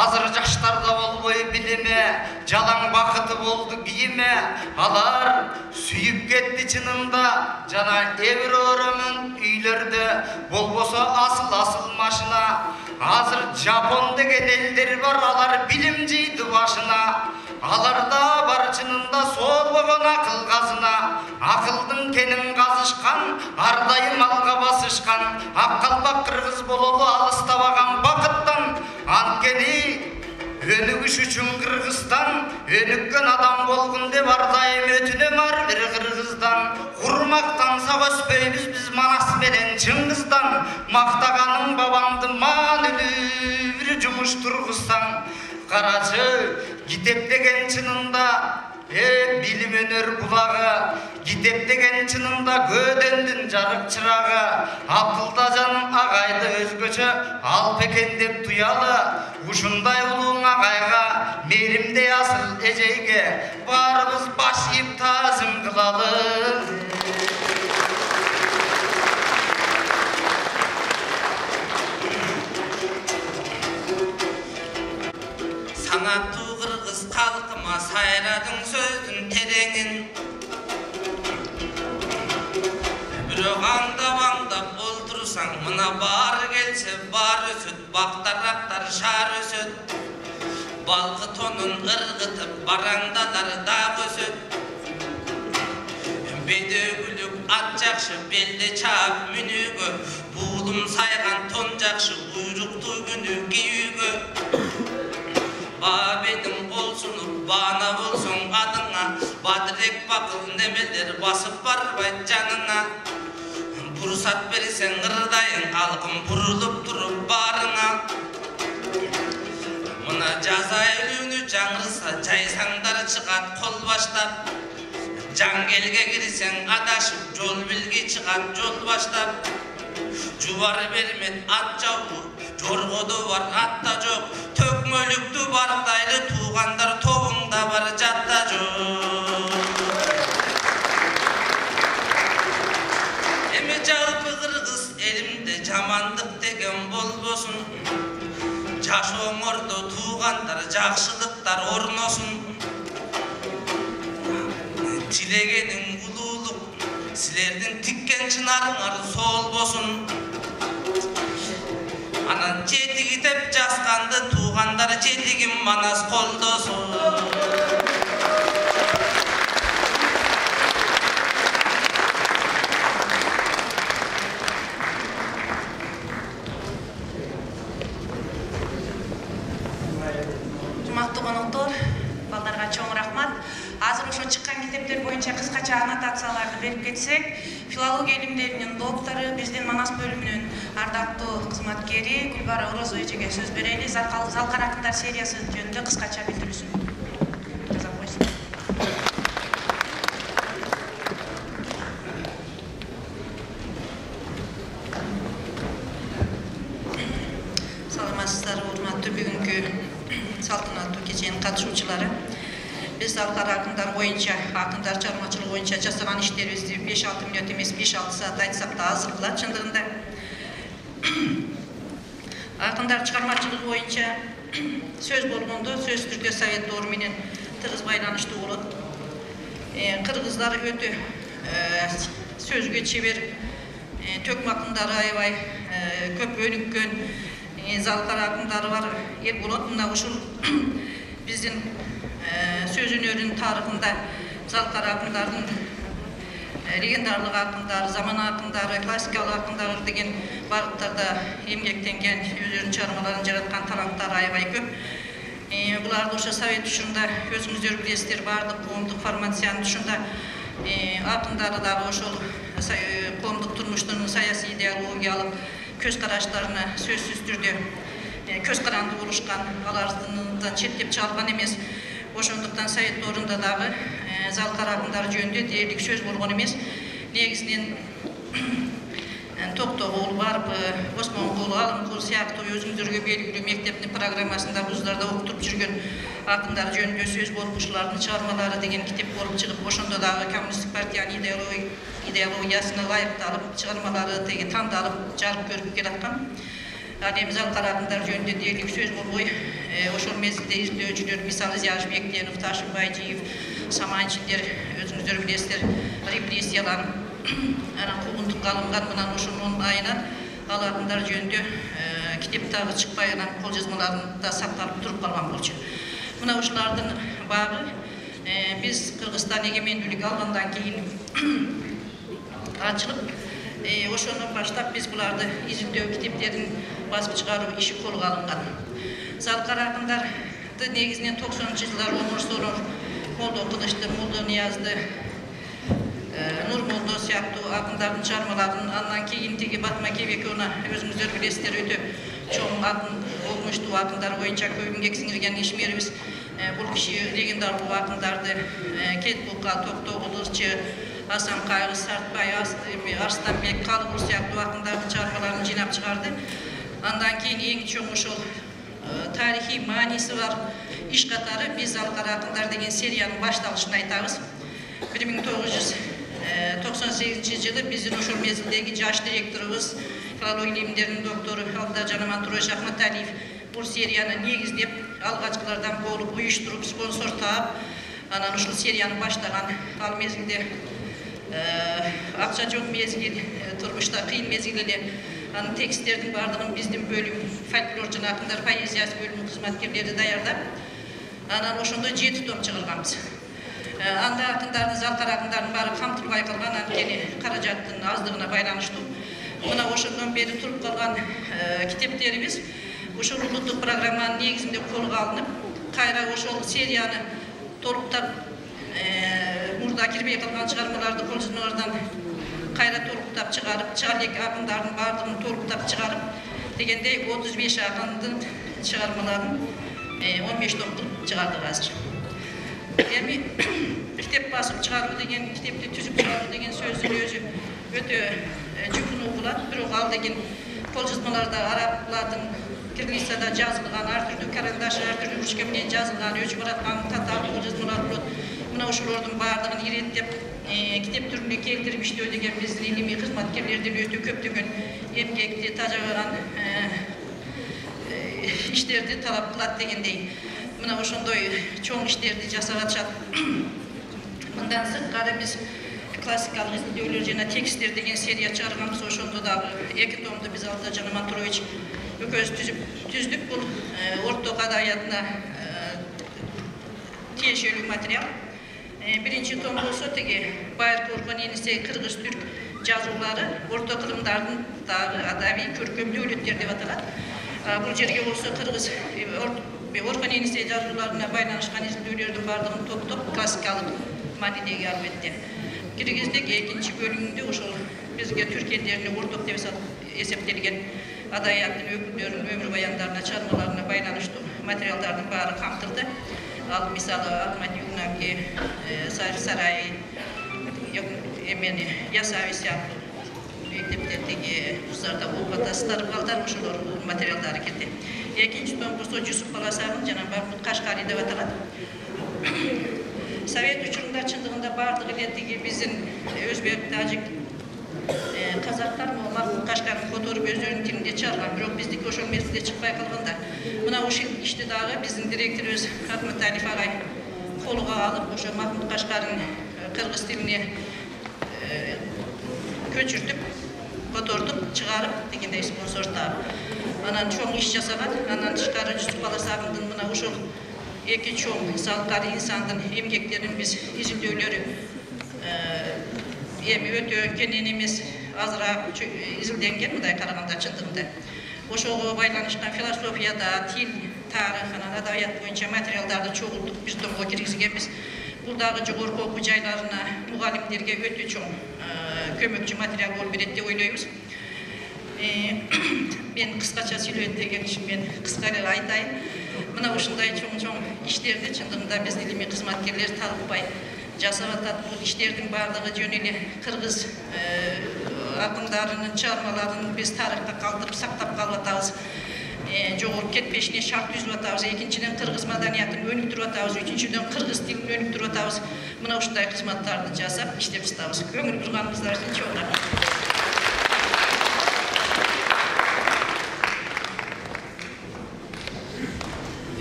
азыр жаштарда болбой билеме. Жалаң бакыты болду кийиме. Алар сүйүп кетти чынында, жана Евроромун үйлөрдө болбосо асыл машина. Азыр Жапон деген элдер бар, алар билим жыйды башына. аларда бар чынында соолбогон акыл казына, акылдын кенин казышкан, ар дайым алга басышкан, ак калпак кыргыз бололу алыстабаган бакыттан. Анткени өнүгүш үчүн Кыргызстан, өнүккөн адам болгун деп ар дайым өтүнөм ар бир кыргыздан. Урмактанса өспөйбүз биз Манас менен Чыңгыздан, мактаганың бабамды маанилүү бир жумуш тургузсаң. Карачы, китеп деген чынында билим өнөр булагы, китеп деген чынында көөдөндүн жарык чырагы. Абдылдажан агайды өзгөчө алп экен деп туялы, ушундай улуу агайга, мээримдей асыл эжейге баарыбыз баш ийип таазым кылалы. Санаттуу кыргыз калкыма сайрадың сөздүн тереңин, бирок аңдап олтурсаң мына баары келсе бар өсөт, бактарактар шаар өсөт, балкы тонун ыргытып бараңдалар дагы өсөт. Бедөгүлүк ат жакшы белде чаап мүнүүгө, буулум сайган тон жакшы буйруктуу күнү кийүүгө. Бабедин болсуну баана болсоң адыңа, бадырек бакыл немелер басып барбайт жаныңа. Бурсат берсең ырдайың, калкым бурулуп туруп баарыңа. Мына жаз айлүүнү жаңырса жайсаңдар чыгат кол баштап, жангелге кирсең адашып, жол билги чыгат жол баштап. Жубар бермет ат жабуу, жоргоду бар атта жок, төкмөлүктү бардайлы туугандар тобуңда бар жатта жок. Эми жалпы кыргыз элимде жамандык деген болбосун, жашооңордо туугандар жакшылыктар орносун. Тилегениң улуулук, силердин тиккен чынарыңар соолбосун. Анан жетиги деп жазганды туугандар жетигин Манас колдосун. Урматтуу коноктор, балдарга чоң рахмат. Азыр ошо чыккан китептер боюнча кыскача аннотацияларды берип кетсек, филология илимдеринин доктору, биздин Манас бөлүмүнүн ардактуу кызматкери Гүлбара Орозо эжеге сөз берели. Залкар акындар сериясы жөнүндө кыскача билдирүүсүн жасап койсун. Саламатсыздарбы, урматтуу бүгүнкү салтанаттуу кеченин катышуучулары. Биз Залкар акындар боюнча, акындар чыгармачылыгы боюнча жасаган иштерибизди 5-6 мүнөт эмес 5-6 саат айтсак да азыр кылат чындыгында. Акындар чыгармачылыгы боюнча сөз болгондо сөзсүз түрдө совет доор менен тыгыз байланыштуу болот. Кыргыздар өтө сөзгө чебер, төкмө акындары аябай көп өнүккөн, Залкар акындары бар эл болот. Мына ушул биздин сөз өнөрүнүн тарыхында Залкар акындардын легендарлык акындар, заман акындары, классикалык акындар деген багыттарда эмгектенген, өздөрүнүн чыгармаларын жараткан таланттар аябай көп. Буларды ошо совет учурунда өзүңүздөр билесиздер, баардык коомдук формациянын учурунда акындары дагы ошол коомдук турмуштун саясий идеологиялык көз караштарына сөзсүз түрдө көз каранды болушкан, алардан четтеп чыгарган эмес. Ошондуктан совет доорунда дагы Залкар акындар жөнүндө дээрлик сөз болгон эмес. Негизинен Токтогул барып, Осмонкул, Алымкул сыяктуу өзүңүздөргө белгилүү мектептин программасында вуздарда окутуп жүргөн акындар жөнүндө сөз болуп, ушулардын чыгармалары деген китеп болуп чыгып, ошондо дагы коммунисттик партиянын идеологиясына ылайыкталып, чыгармалары теги тандалып, жарык көрүп келаткан. Ал эми Залкар акындар жөнүндө дээрлик сөз болбой, ошол мезгилде издөөчүлөр, мисалы Зияш Бектенов, Ташим Байжиев, Саманчиндер, өзүңүздөр билесиздер, репрессияланып, анан куугунтукка алынган. Мына ушунун айынан ал акындар жөнүндө китеп дагы чыкпай, анан кол жазмаларында сакталып туруп калган болчу. Мына ушулардын багы биз Кыргызстан эгемендүүлүк алгандан кийин ачылып, ошондон баштап биз буларды изилдөө китептерин басып чыгаруу иши колго алынган. Залкар акындарды негизинен 90-жылдар Омар Сорор, Молдо Кылычты, Молдо Ниязды, Нурмолдо сыяктуу акындардын чыгармаларын, андан кийин тиги Батма Кебековна өзүңүздөр билесиздер, өтө чоң акын, огмуштуу акындар боюнча көп эмгек сиңирген ишмерибиз. Бул киши легендарлуу акындарды Кетбулка, Токтогул, Ырчы, Асан Кайгы, Сартбай, Арстанбек, Калыбул сыяктуу акындардын чыгармаларын жыйнап чыгарды. Андан кийин эң чоң ошол тарихи мааниси бар иш катары биз Залкар акындар деген сериянын башталышын айтабыз. 1998 жылы биздин ошол мезгилдеги жаш директорубуз, филология илимдеринин доктору Алдажан Амантурович Ахматалиев бул серияны негиздеп, алгачкылардан болуп, уюштуруп, спонсор таап, анан ушул серияны баштаган. Ал мезгилде акча жок мезгил, турмушта кыйын мезгил эле. Анын тексттердин бардыгын биздин бөлүм, фольклор жана акындар поэзиясы бөлүмүнүн кызматкерлери даярдап, анан ошондо 7 том чыгарганбыз. Анда акындардын, Залкар акындардын баары камтылбай калган, анткени каражаттын аздыгына байланыштуу. Мына ошондон бери туруп калган китептерибиз ушул улуттук программанын негизинде колго алынып, кайра ошол серияны толуктап, мурда кирбей калган чыгармаларды, колжазмалардан кайра толуктап чыгарып, чыгалек акындардын баардыгын толуктап чыгарып дегендей 35 акындын чыгармаларын 15 том кылып чыгардык азыр. Эми китеп басып чыгаруу деген, китепти түзүп чыгаруу деген сөздүн өзү өтө жүкүнүү болот. Бирок ал деген колжазмаларда араб, латын, киргизчада жазылган, ар түрдүү карандаш, ар түрдүү ручка менен жазылган, өчүп бараткан татар колжазмалар болот. Мына ошолордун баардыгын иреттеп китеп түрүнө келтирип иштөө деген биздин илимий кызматкерлердин өтө көптөгөн эмгекти, тажаган иштерди талап кылат дегендей. Мына ошондой чоң иштерди жасап атышат. Мындан сырткары биз классикалык изилдөөлөр жана тексттер деген серия чыгарганбыз. Ошондо дагы 2 томду биз Алдажан Амантурович экөөбүз түздүк. Бул орток адабиятына тиешелүү материал. Биринчи том болсо тиги Байыркы Орхон Енисей кыргыз-түрк жазуулары, орто кылымдардын дагы адабий көркөм дөөлөттөр деп аталат. Бул жерге болсо кыргыз Орхон Енисей жазууларына байланышкан изилдөөлөрдүн баардыгын топтоп классикалык маанидеги албетте. Киргиздик экинчи бөлүмүндө ошол бизге түрк элдерине орток деп эсептелген адабияттын өкүлдөрүнүн өмүр баяндарына, чыгармаларына байланыштуу материалдардын баары камтылды. Ал мисалы Ахмат Югнаки, Сарай, эмени Ясави сыяктуу мектептердеги кыздарда окуп атасыздар, балдар ошолор материалдары келди. Экинчи том болсо Жусуп Баласагын жана Бахмут Кашкари деп аталат. Совет учурунда чындыгында баардыгы эле тиги биздин өзбек, тажик, казактар Бахмут Кашкарин которуп өздөрүнүн тилинде чыгарган, бирок биздики ошол мезгилде чыкпай калганда. Мына ушул ишти дагы биздин директорубуз Ахматалиев агай колго алып, ошо Бахмут Кашкарин кыргыз тилине көчүртүп, котортуп, чыгарып дегендей спонсор таап. Анан чоң иш жасаган. Андан тышкары Жусуп Баласагындын мына ошол эки чоң Залкар инсандын эмгектерин биз изилдөөлөрү эми өтө кенен эмес, азыраак изилденген мындай караганда чындыгында. Ошого байланышкан философияда, тил, тарых, анан адабият боюнча материалдарды чогултуп бир томго киргизгенбиз. Бул дагы жогорку окуу жайларына, мугалимдерге өтө чоң көмөкчү материал болуп берет деп ойлойбуз. Мен кыскача сүйлөйт дегенчим, мен кыска эле айтайын. Мына ушундай чоң иштерди чындыгында биз илимий кызматкерлер талыкпай жасап атат. Бул иштердин баардыгы жөн эле кыргыз акындарынын чыгармаларын биз тарыхта калтырып сактап калып атабыз. Жогору кетпешине шарт түзүп атабыз. Экинчиден кыргыз маданиятын өнүктүрүп атабыз. Үчүнчүдөн кыргыз тилин өнүктүрүп атабыз. Мына ушундай кызматтарды жасап иштеп жатабыз. Көңүл бурганыңыздар үчүн чоң рахмат.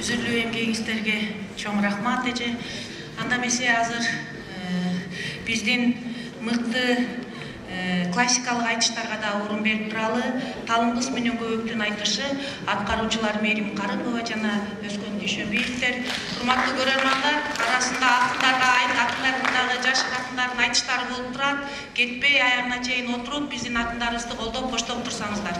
Үзүрлүү эмгегиңиздерге чоң рахмат эже. Анда эмесе азыр биздин мыкты классикалык айтыштарга да орун берип туралы. Талымгыз менен көбөктүн айтышы аткаруучулар Мерим Карымова жана Өскөн Дүйшөбиевдер. Урматтуу көрөрмандар, арасында акындардагы жаш акындардын айтыштары болуп турат. Кетпей аягына чейин отуруп биздин акындарыбызды колдоп коштоп турсаңыздар.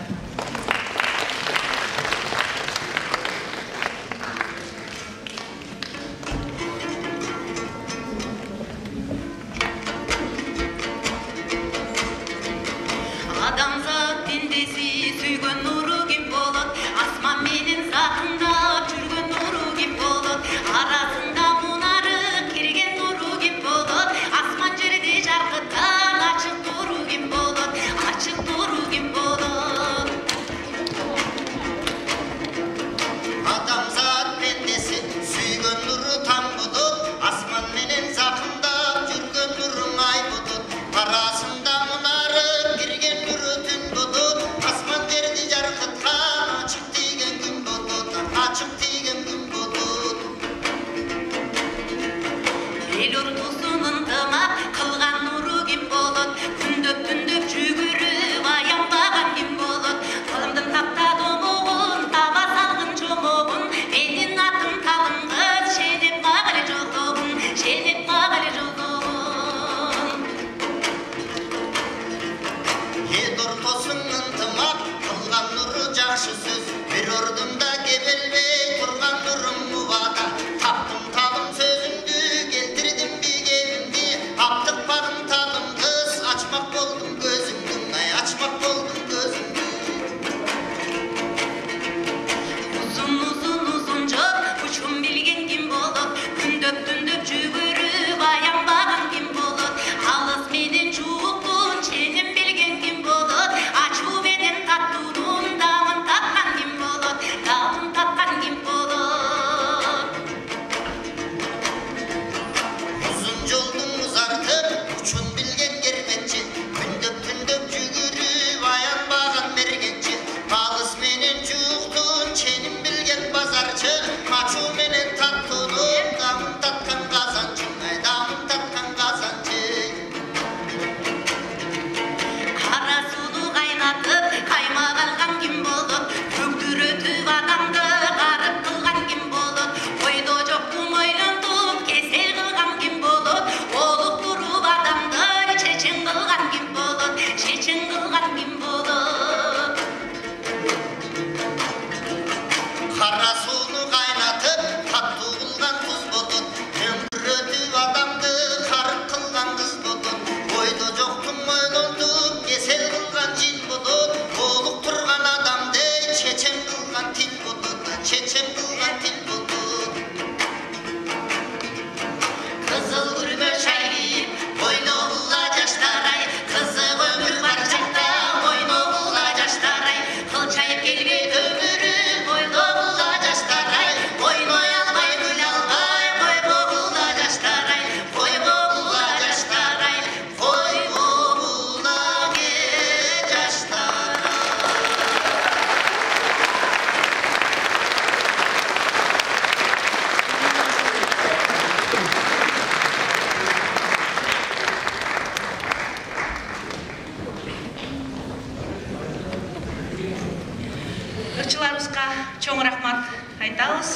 Ырчыларыбызга чоң рахмат айтабыз.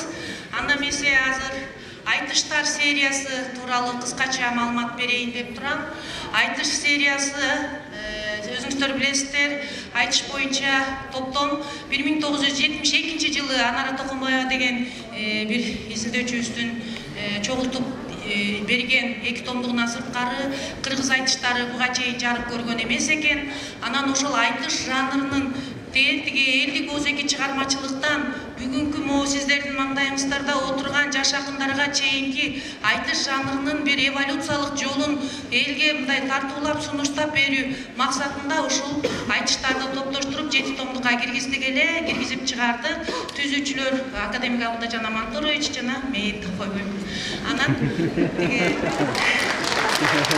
Анда эмесе азыр айтыштар сериясы тууралуу кыскача маалымат берейин деп турам. Айтыш сериясы өзүңүздөр билесиздер, айтыш боюнча топтом 1972 жылы Анара Токомбаева деген бир изилдөөчүбүздүн чогултуп берген 2 томдугунан сырткары кыргыз айтыштары буга чейин жарык көргөн эмес экен. Анан ошол айтыш жанрынын тетиги элдик өзеки чыгармачылыктан бүгүнкү могу сиздердин маңдайыңыздарда отурган жаш акындарга чейинки айтыш жанрынын бир эволюциялык жолун элге мындай тартуулап сунуштап берүү максатында ушул айтыштарды топтоштуруп 7 томдукка киргиздик эле, киргизип чыгардык. Түзүүчүлөр академик Абылдажан Амантурович жана мен койбойм. Анан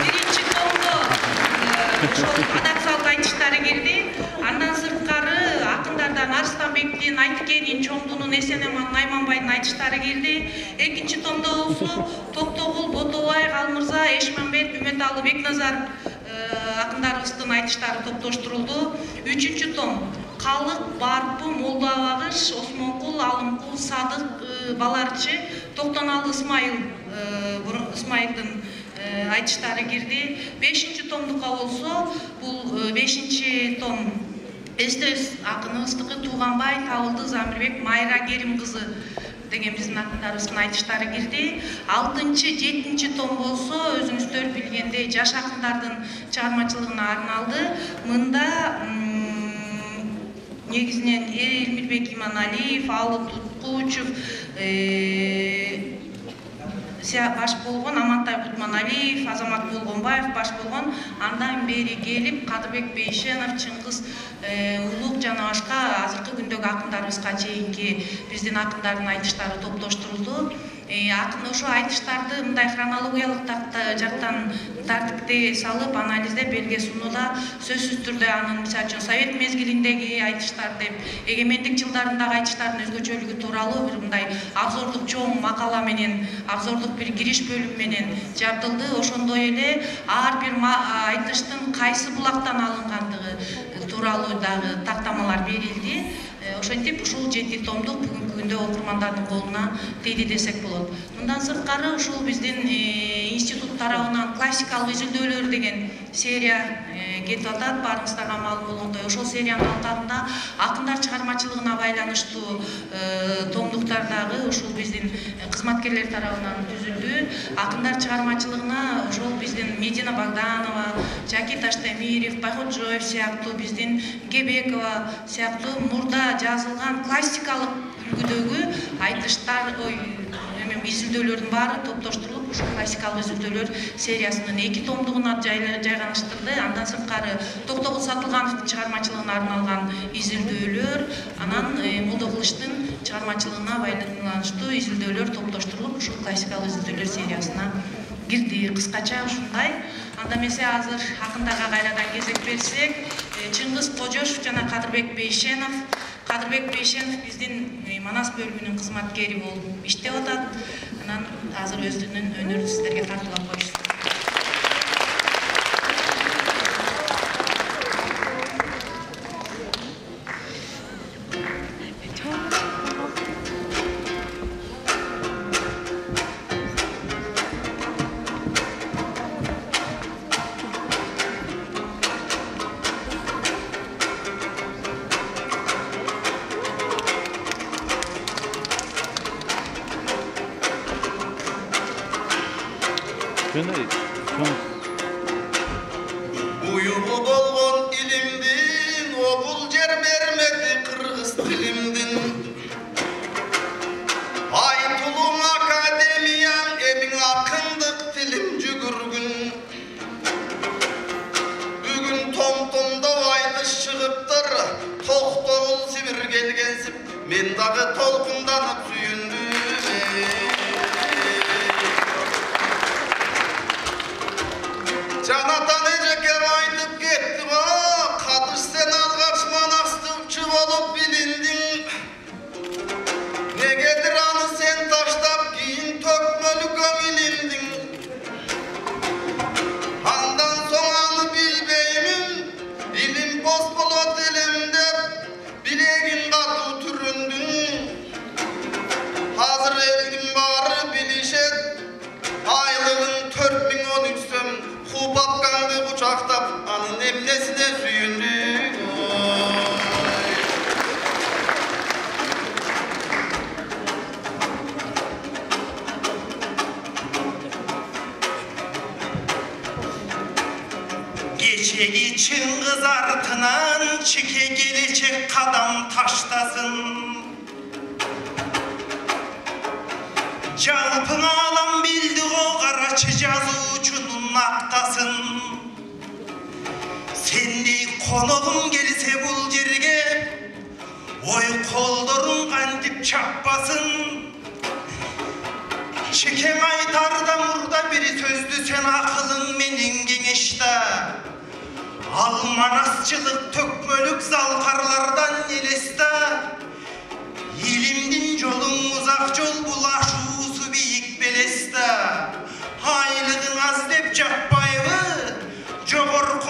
биринчи томдо ошол адаксалык айтыштары кирди. Андан сырткары акындардан Арыстанбектин, Айтыкенин, Чоңдунун, Эсенеманын, Найманбайдын айтыштары кирди. Экинчи томдо болсо Токтогул, Ботобай, Калмырза, Эшмамбет, Үмөталы, Бекназаров акындарыбыздын айтыштары топтоштурулду. 3-чү том Калык, Барпы, Молду Абагыш, Осмонкул, Алымкул, Садык, Баларчы, Токтоналы Исмайылдын айтыштары кирди. 5-чү томдукка болсо, бул 5-чи том Эстес акыныбыздыкы Тууганбай Табылды Замирбек Майра Керим кызы деген биздин акындарыбыздын айтыштары кирди. 6-чы, 7-чи том болсо, өзүңүздөр билгендей жаш акындардын чыгармачылыгына арналды. Мында негизинен Элмирбек Иманалиев, Алы Туткучев, баш болгон, Амантай Кутманалиев, Азамат Болгонбаев баш болгон, андан бери келип Кадырбек Бейшенов, Чыңгыз Улук жана башка азыркы күндөгү акындарыбызга чейинки биздин акындардын айтыштары топтоштурулду. Акын ошо айтыштарды мындай хронологиялык жактан тартипте салып, анализдеп элге сунууда сөзсүз түрдө анын мисалы үчүн Совет мезгилиндеги айтыштар деп, эгемендик жылдарындагы айтыштардын өзгөчөлүгү тууралуу бир мындай абзордук чоң макала менен, абзордук бир кириш бөлүм менен жабдылды. Ошондой эле ар бир айтыштын кайсы булактан алынгандыгы тууралуу дагы тактамалар берилди. Ошентип ушул 7 томдук бүгүнкү күндө окурмандардын колуна тийди десек болот. Мындан сырткары ушул биздин институт тарабынан классикалык изилдөөлөр деген серия кетип атат. Баарыңыздарга маалым болгондой, ошол сериянын алкагында акындар чыгармачылыгына байланыштуу томдуктар дагы ушул биздин кызматкерлер тарабынан түзүлдү. Акындар чыгармачылыгына ошол биздин Медина Богданова, Жаки Таштемиров, Байходжоев сыяктуу, биздин Кебекова сыяктуу мурда жазылган классикалык үлгүдөгү айтыштар, изилдөөлөрдүн баары топтоштурулуп, ушул классикалык изилдөөлөр сериясынын 2 томдугуна жайганыштырды. Андан сырткары Токтогул Сатылгановдун чыгармачылыгына арналган изилдөөлөр, анан Молдокулучтун чыгармачылыгына байланыштуу изилдөөлөр топтоштурулуп, ушул классикалык изилдөөлөр сериясына кирди. Кыскача ушундай. Анда эмесе азыр акындарга кайрадан кезек берсек, Чыңгыз Кожошов жана Кадырбек Бейшенов. Кадырбек Бейшенов биздин Манас бөлүмүнүн кызматкери болуп иштеп атат. Анан азыр өзүнүн өнөрүн сиздерге тартуулап коюшат. Uyuğu bolgon ilimdin, obul jer bermedi kırgız tilimdin. Aytulun akademiyan, emin akındık tilim jügürgün. Bugün tom-tomda aytış çıgıptır, Toktogul Sibir gelgensip, men dagı tolkundanıp suyundum. Canatan Eceker aytıp gitti o, Kadış sen algaç manastırçı olup bilindin. Negedir anı sen taştap giyin tökmölü gömülindin. Andan son anı bilbeymin, ilim bozbolot elimde, bilegin katı türündün. Hazır elgin barı bilişet, aylığın 4013 söm. Kupapkandı bıçaktap, anın emnesine süyündük. Geçegi Çыңgız artынан çike gelecek kadam taştasın. Жалпың алам билди о карачы жазуучунун актасын. Сендей коногум келсе бул жерге, ой колдоруң кантип чаппасын. Чекең айтарда мурда бир сөздү сен акылың менен кеңеште. Ал манасчылык төкмөлүк залкарлардан элесте. Илимдин жолуң узак жол булашуусу бийик белесте. Айлыгың аз деп жаппайбы, жогорку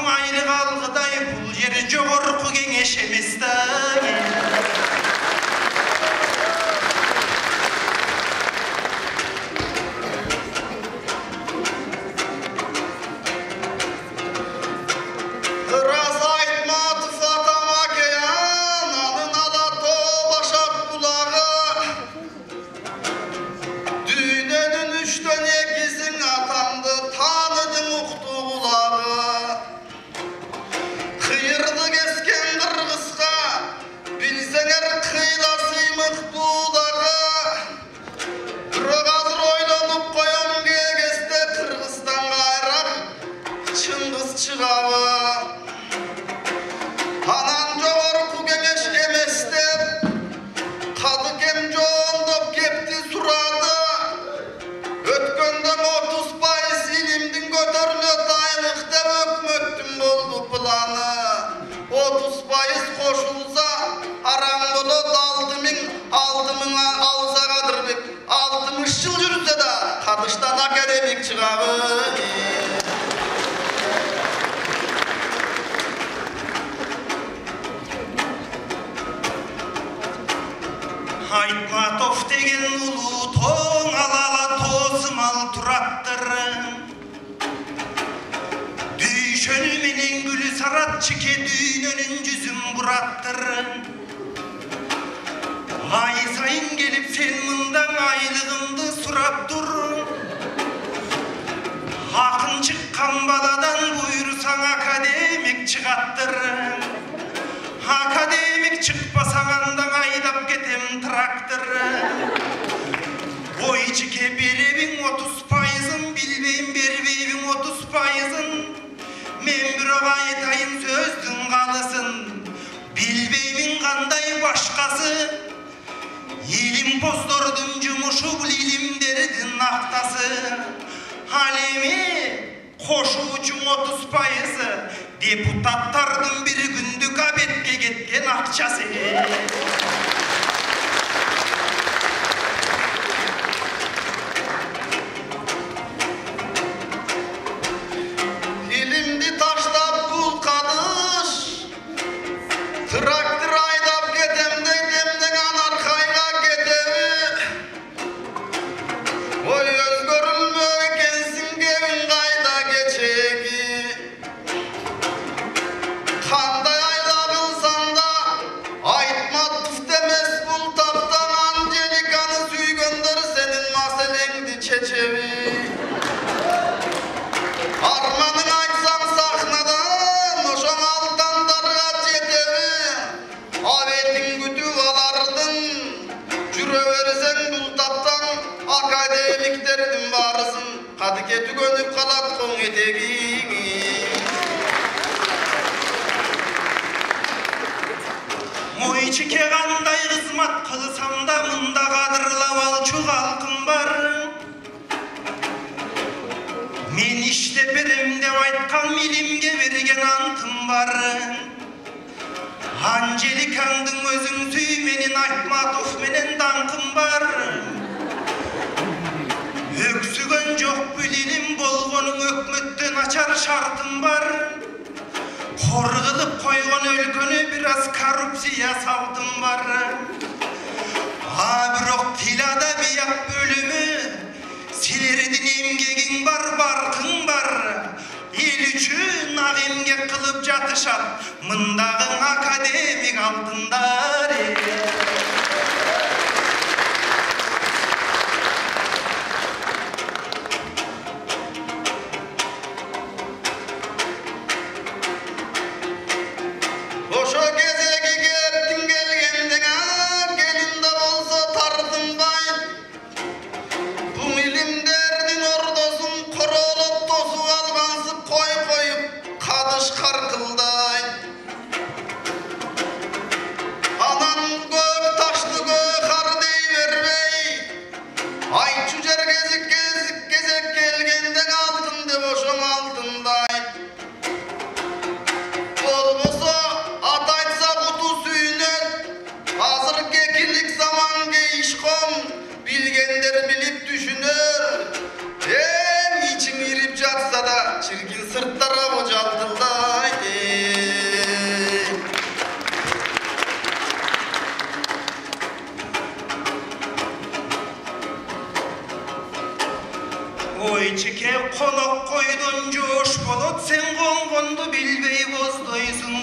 кадыштан академик чыгабы. Айтматов деген улуу тоң алала тоосумал тураттыр. Дүйшөнү менен гүлү сарат чике дүйнөнүн жүзүн бураттыр. Ай сайын келип сен мындан айлыгымды сурап тур. Акын чыккан баладан буйрусаң академик чыгаттыр. Академик чыкпасаң андан айдап кетем трактор. Ой чике беребиң 30%, билбейм бербейбиң 30%. Мен бирок айтайын сөздүн калысын, билбеймин кандай башкасы. Илим поздордун жумушу бул илимдердин актасы. Ал эми кошуучуң 30%, депутаттардын бир күндүк абетке кеткен акчасы. Илимди таштап бул кадыш, трактор айдап кетем дейт, эмнеге анаркайга кетеби? Ой өзгөрүлмө экенсиң, кебиң кайда кечеги? Кандай айла кылсаң да Айтматов демес бул таптан. Анжеликаны сүйгөндөр сенин маселеңди чечеби? Арманың айтсаң сахнадан, ошоң алдандарга жетеби? Абетиң күтүп алардын, жүрө берсең бул таптан. Академиктердин баарысын кадыке түгөнүп калат коң этегиң. Ой чике кандай кызмат кылсам да мында кадырлап алчу калкым бар. Мен иштеп берем деп айткан илимге берген антым бар. Анжеликаңдын өзүң сүй, менин Айтматов менен даңкым бар. Өксүгөн жок билим болгонуң, өкмөттөн ачар шартым бар. Хор кылып койгон өлкөнү бир аз коррупция салтым бар. Бирок тил адабият бөлүмү, силердин эмгегиң бар, баркың бар. Эл үчүн ак эмгек кылып жатышат мындагы академик алтындар. Ошо кезеги кептиң келгендең, келин да болсо тартынбай. Бул илимдердин ордосун королоп тосуп алгансып коюп кадыш каркылдай. Анан көк ташты көк кар дей бербей, айтчу жер кезек келгендең алтын деп ошоң алтындай. Болбосо ат айтса куту сүйнөт, азыр кекилик заман кейишком, билгендер билип түшүнөр. Ичиң ирип жатса да чиркин сырттара бу жалтылдай. Ой чике конок койдон жоош болот, сен конгонду билбей боздойсуң.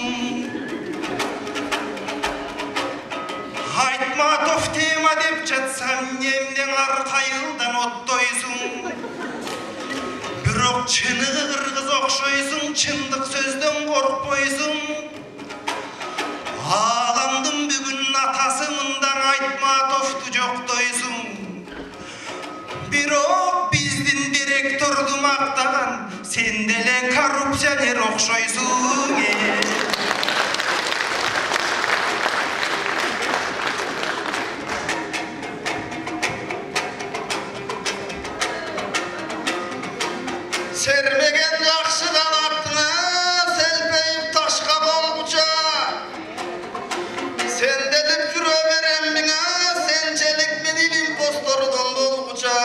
Айтматов тема деп жатсам, эмден аркайылдан оттойсуң. Бирок чыны кыргыз окшойсуң, чындык сөздөн коркпойсуң. Ааламдын бүгүн атасы мындан Айтматовду жоктойсуң. Бирок биздин директорду мактаган, сен деле коррупционер окшойсуң. Сермеген жакшыдан аттыңа, селпейип ташка болгуча. Сенделип жүрө берем миңа, сенчелик мен илим постордон болгуча.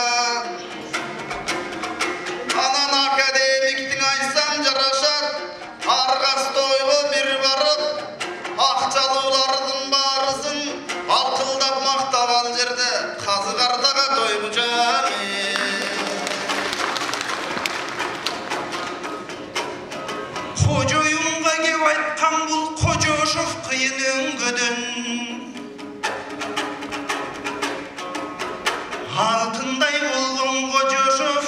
берде казы кардага тойгучам. Кожоюнга кеп айткан бул Кожошов кыйын өңгөдөн. Алтындай болгон Кожошов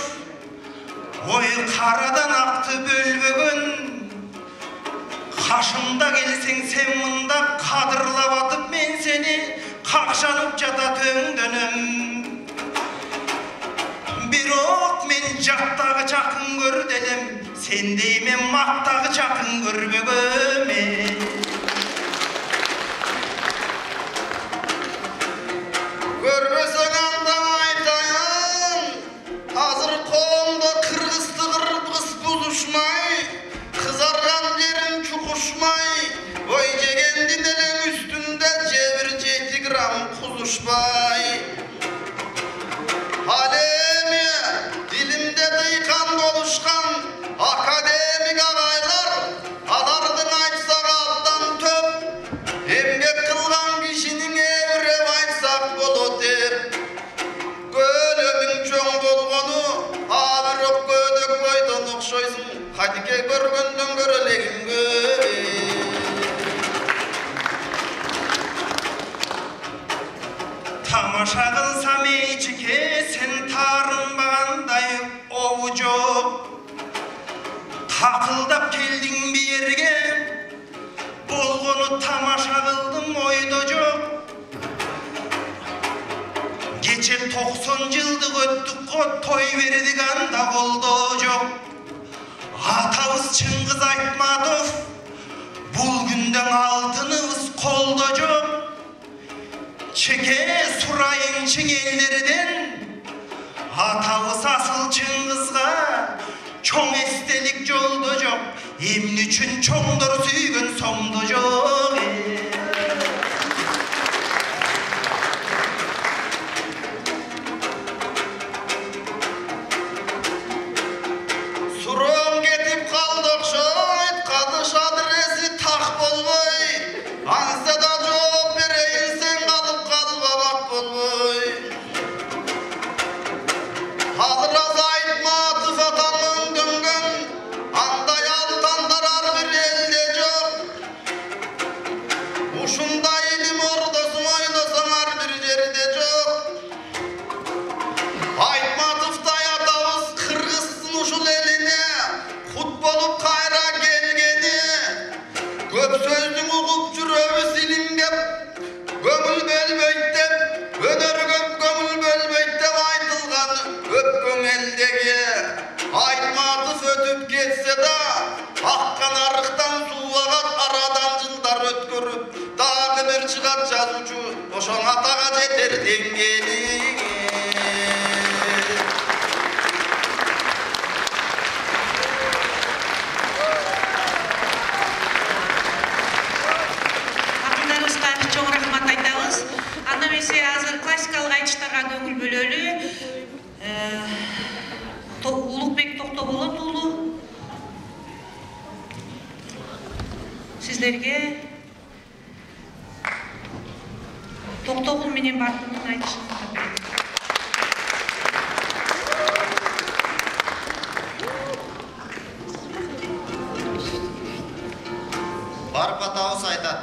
ой карадан акты бөлбөгөн. Кашымда келсең сен мында кадырлап атып мен сени какшанып жата төңдөнөм. Бирок мен жактагы жакын көрдү элем, сендей мен мактагы жакын көрбөгөм. Көрбөсөң анда айтайын, азыр колумда кыргызды кыргыз бузушмай, кызарган жерим чукушмай, ой жегендин элең үстүндө жебир 7 грамм кузушпай. Ал эми дилимде дыйкан болушкан академик агайлар, алардын айтсак абдан төп, эмгек кылган кишинин эбиреп айтсак болот деп. Көлөмүң чоң болгону, бирок көдөк бойдон окшойсуң, кадике көргөндөн көрө элегиң көп. Тамаша кылсам эчике сен таарынбагандай обу жок. Такылдап келдиң бирге, болгону тамаша кылдым ойдо жок. Кече 90 жылдык өттүк го той бердик анда колдо жок. Атабыз Чыңгыз Айтматов бул күндөн алтыныбыз колдо жок. Чеке сурайынчы элдерден атабыз асыл Чыңгызга чоң эстелик жолдо жок. Эмне үчүн чоңдор сүйгөн сомдо жок. Суром кетип калды окшойт, кадыш адреси так болбой. Анса да жооп берейин, сен калып калбак болбой. Алыраз Айтматов атам өңдөнгөн, андай алтандар ар бир элде жок. Ушундай илим ордосун ойлосоң ар бир жерде жок. Айтматовдай атабыз кыргыздын ушул элине кут болуп кайра келгени. Көп сөздүн угуп жүрөбүз илимге көңүл бөлбөйт деп, өнөргө көңүл бөлбөйт деп айтылган өпкөн элдеги. Айтматов өтүп кетсе да, аккан арыктан суу агат, арадан жылдар өткөрүп, дагы бир чыгат жазуучу, ошоң атага жетер деңгели. Акындарыбызга чоң рахмат айтабыз. Анда эмесе азыр классикалык айтыштарга көңүл бөлөлү. Улукбек Токтоболот уулу сиздерге Токтогул менен Бартынын айтышын тап берет. Барып атабыз айтат.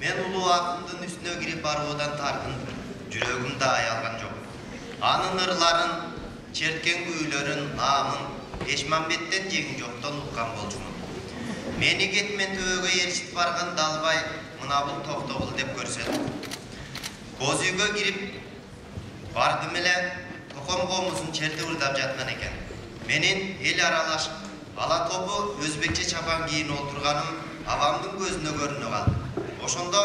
Мен улуу акындын үстүнө кирип баруудан таркын, жүрөгүм да аялган жок. Анын ырларын, черткен күүлөрүн, наамын Эшмамбеттен жең жоктон уккан болчумун. Мени кетмен төбөгө ээрчитип барган Далбай мына бул Токтогул деп көрсөтүп. Боз үйгө кирип бардым эле, током комузун чертип ырдап жаткан экен. Менин эл аралаш ала тобу өзбекче чапан кийин олтурганым авамдын көзүнө көрүнө калды. Ошондо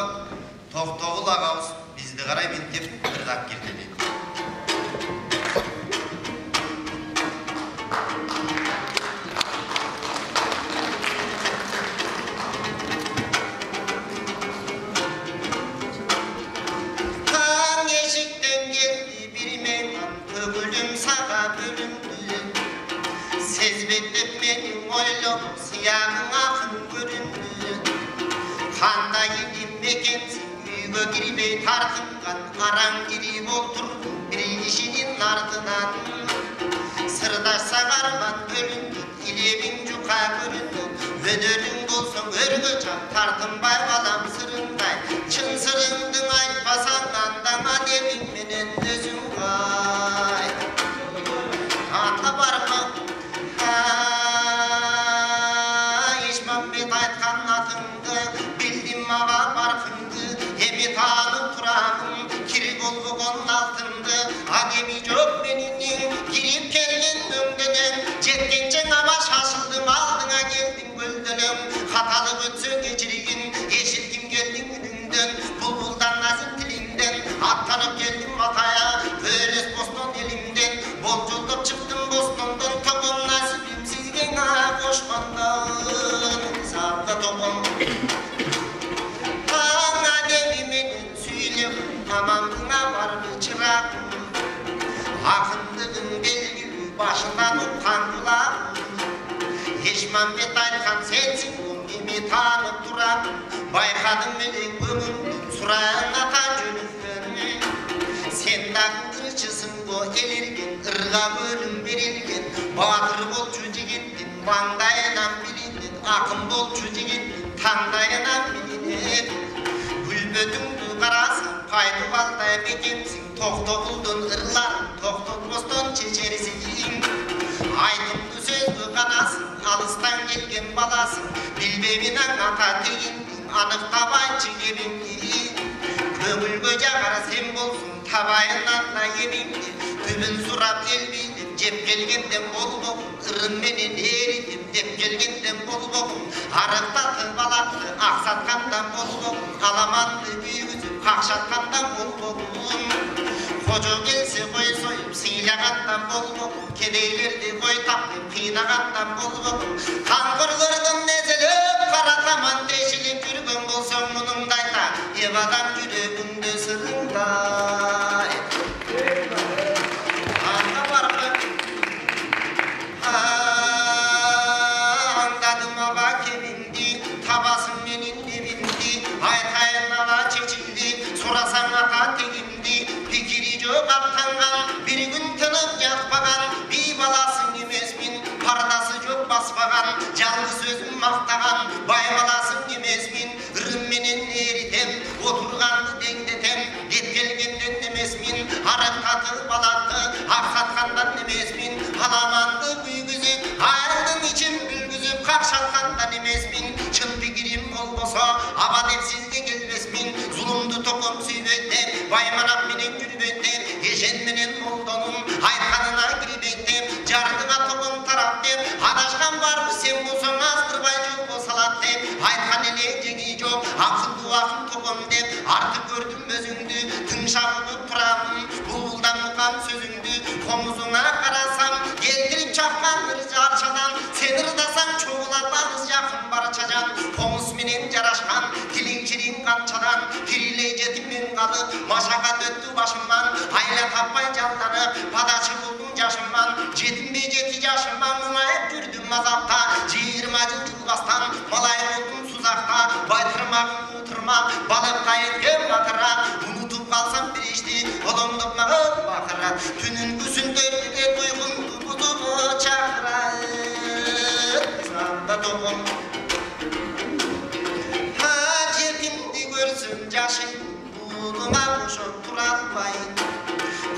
Токтогул агабыз бизди карай минтип ырдап кирди. тартынған араң кирип отурду бир кишинин артынан сырдашса карман бөлүндү илебиң жука көрүндү өнөрүң болсоң өргө чап тартынбай балам сырыңдай чын сырыңдың айтпасаң анда адемиң менен өзүң айт анда барма Ишмамбет айткан атыңды билдим мага баркыңды эми таанып турамын кири болбогон алтынды адеми жок менин кирип келген дөңдөнөм жеткенче нама шашылдым алдыңа келдим көлдөнөм каталык өтсө кечиргин эшитким келдиң үнүңдөн булбулдан назым тилиңден аттанып келдим атая көрөс бостон элимден болжолдоп чыктым бостондон током насибим сизге кошкондон сабда током адеми менен сүйлөп амандыңа барбы чырагым акындыгың белгилүү башынан уккан кулагым Ишмамбет айткан сенсиң эми таанып турам байкадым менен көңүлдү сурайын ата жөнүндөн сен дагы кылчысың го элирген ырга бөлүм берилген баатыр болчу жигиттин маңдайынан билинет акын болчу жигиттин таңдайынан билинет күлбөтүңдү карасаң кайтып алдай бекемсиң токтогулдун ырларын токтотпостон чечерсиң айтымды сөздү канасың алыстан келген баласың билбеймин ата тегиңдиң аныктабайчы кебиңди көңүлгө жагар сен болсуң табайын анда эмиңди түбүн сурап элбейдим жеп келгенден болбогум ырым менен эритип деп келгенден болбогум арыктатып алакты аксаткандан болбогум аламанды күйгүзүп какшаткандан болбогум кожо келсе кой союп сыйлагандан болбогум кедейлерди кой таптып кыйнагандан болбогум каңгырлардын незелеп каратаман дешилип жүргөн болсоң мунуңду айта эп адам жүрөгүңдө сырыңдай анда баркы андадым ага кебимди табасың менин дебимди айтайын ага чечимди сурасаң ата тегимди пикири жок аптанган бир күн тынып жатпаган бий баласың эмесмин пардасы жок баспаган жалгыз өзүм мактаган бай баласың эмесмин ырым менен эритем отурганды деңдетем деп келгенден эмесмин арыктатып алатты аксаткандан эмесмин аламанды күйгүзүп айылдын ичин бүлгүзүп какшаткандан эмесмин чын пикирим болбосо аба деп сизге келбесмин зулумду током сүйбөйтеп байманап менен жүрбөйтеп эшен менен молдонун айтканына кирбейтеп жардыга током тарап деп адашкан барбы сен болсоң аздырбай жолго салат деп айткан эле жеги жок акылдуу акын током деп артып көрдүм өзүңдү тыңшабып турамын булбулдан уккан сөзүңдү комузуңа карасам келтирип чапкан арчадан сен ырдасаң чогулат алыс жакын барча жан комуз менен жарашкан тилиң чириң канчадан кирилей жетиммен калып машакат өттү башыман айла таппай жалданып падачы болдум жашыман жетинбей жети жашыма муңайып жүрдүм азапта 20 жыл жылбастан малай болдум сузакта байтырмагым утырмак балыкка эткем батыра унутуп калсам бир ишти олоңдоп мага бакыра түнүн күсүндөрүнө уйкумду бузуп чакыра санда током жетимди көрсөм жашым буудума кошоп тура албай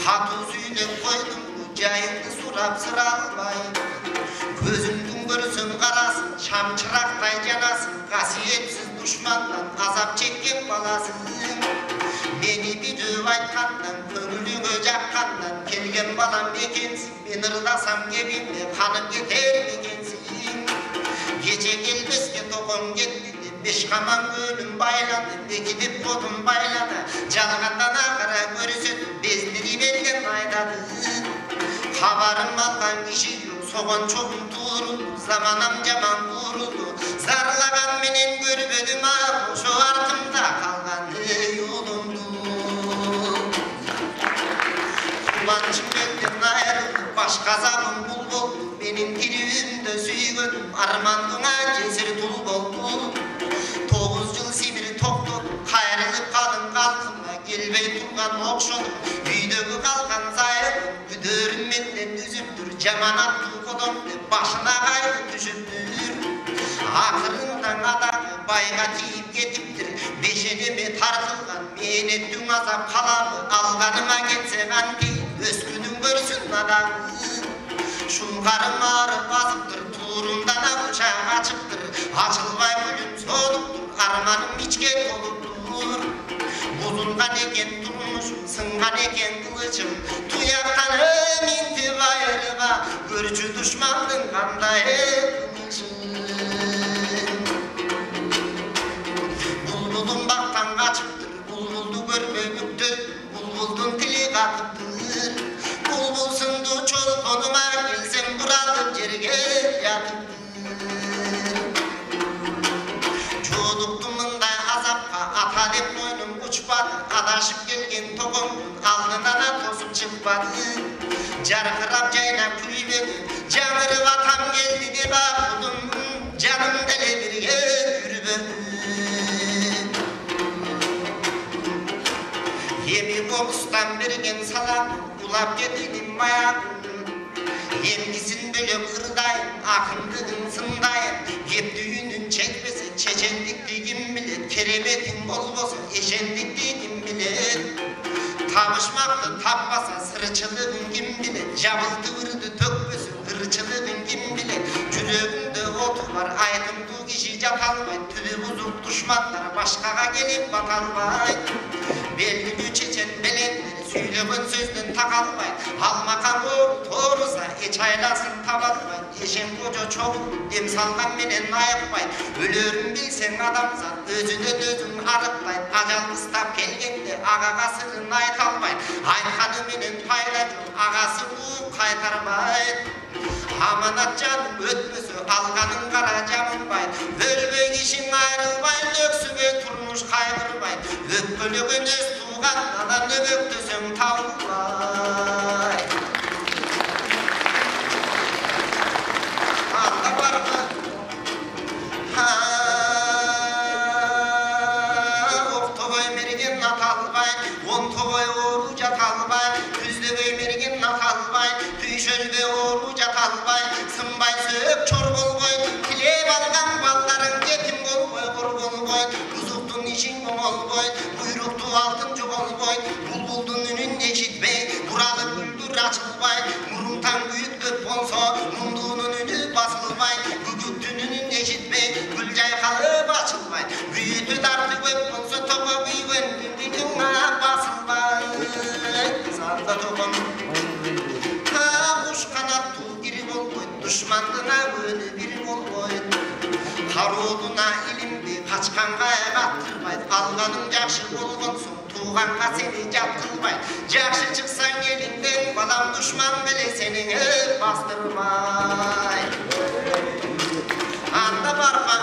катуу сүйлөп койдум жайыңды сурап сыра албай көзүңдүн көрсөм карасың шам чырактай жанасың касиетсиз душмандан азап чеккен баласың мени бүдүп айткандан көңүлүңө жаккандан келген балам экенсиң мен ырдасам кебимде канып кетер мекенсиң кече келбеске током кетти деп беш каман көлүм байлады бекитип бодум байлады жалгандан акыра көрсөтүп бездирип элген айдады кабарым алган киши жок согон чогум туурулду заманам жаман буурулду зарлаган менен көрбөдүм ошо артымда калган улумду кубанычым элден айрылды баш казабым бул болду менин тирүүмдө сүйгөнүм армандыңа жесир тул болду 9 жыл Сибир токтоп кайрылып калдым калкыма кел жаманаттуу коломду башына кайгы түшүптүр. Акырында адагы байга тийип кетиптир. Бешенеме тартылган мээнеттің азап каламы алганыма кетсе канти өскүнүн көрсүн адагы. Шуңгарым арып азыптыр, туурумдан абычак ачыптыр. Ачылбай гүлүм солуптур, арманым ичке толуптур. Бузулган экен турмушум, сынган экен кылычым. Туяктанып интип айрыга, көрчү душмандын кандай кылычын. Булбулдун бактан качыптыр, булбулду көрбөй бүктөт, булбулдун тили катыптыр. Булбул сынду чолпонума келсем буралып жерге ятыптыр. Жолуктум мындай азапка ата деп мойнум учпады, адашып келген тогомдун алдынан тосуп чыкпады. Жаркырап жайнап күйлөдү, жаңырып атам келди деп акылдым, жаным деле бирге жүрбөдү. Эми болустан берген салам улап кетидим маягым. Эмгисин бөлөп ырдайын, акындыгын сындайын. Кептүүнүн чекпесе чечендикти ким билет, кереметиң болбосо эшендикти ким билет. Табышмакты таппаса сырчылыгын ким билет, жабылтыбырды төкпөсө ырчылыгын ким билет. Жүрөгүндө оту бар айтымдуу киши жата албайт, түбү бузук душмандар башкага келип бата албайт. Белгилүү чечен белендер сүйлөгөн сөздөн такалбайт, алмакан тооруса эч айласын таба албайт. Эшен кожо чогуу дем салган менен айыкпайт, өлөрүн билсең адамзат өзүнөн өзүн арыктайт. Ажал кыстап келгенде агага сырын айта албайт, айтканы менен пайда жок, агасы ууп кайтарбайт. Аманат жаным өтпөсө алганын кара жамынбайт, өлбөй кишиң айрылбайт, өксүгө турмуш кайгырбайт. Өпкөлөгөн өз туугандан өбөктөсөң табылбайт. Анда барбы октобой мерген аталбай, он тобой оору жаталбай, күздөбөй мерген аталбай, түйшөлбө оору жаталбай, сынбай сөп чор болбой, тилеп алган балдарың жетим болбой, кор болбой, бузуктун ишиң оңолбой, буйруктуу алтын жоголбой, булбулдун үнүн эшитпей, буралып гүлдүр ачылбай, мурунтан күйүт көп болсо, мундуунун үнү басылбай, бүгүттүн үнүн эшитпей, гүл жайкалып ачылбай, күйүтү дарты көп болсо, тобо күйгөн күндүн басылбай. Санда тобом куш канаттуу бири болбойт, душмандына өнү бири болбойт. Кароодуна илимди качканга каттырбайт, алганың жакшы болгон соң тууганга сени жат кылбайт. Жакшы чыксаң элиңден, балам душман беле сени бастырбайт. Анда барма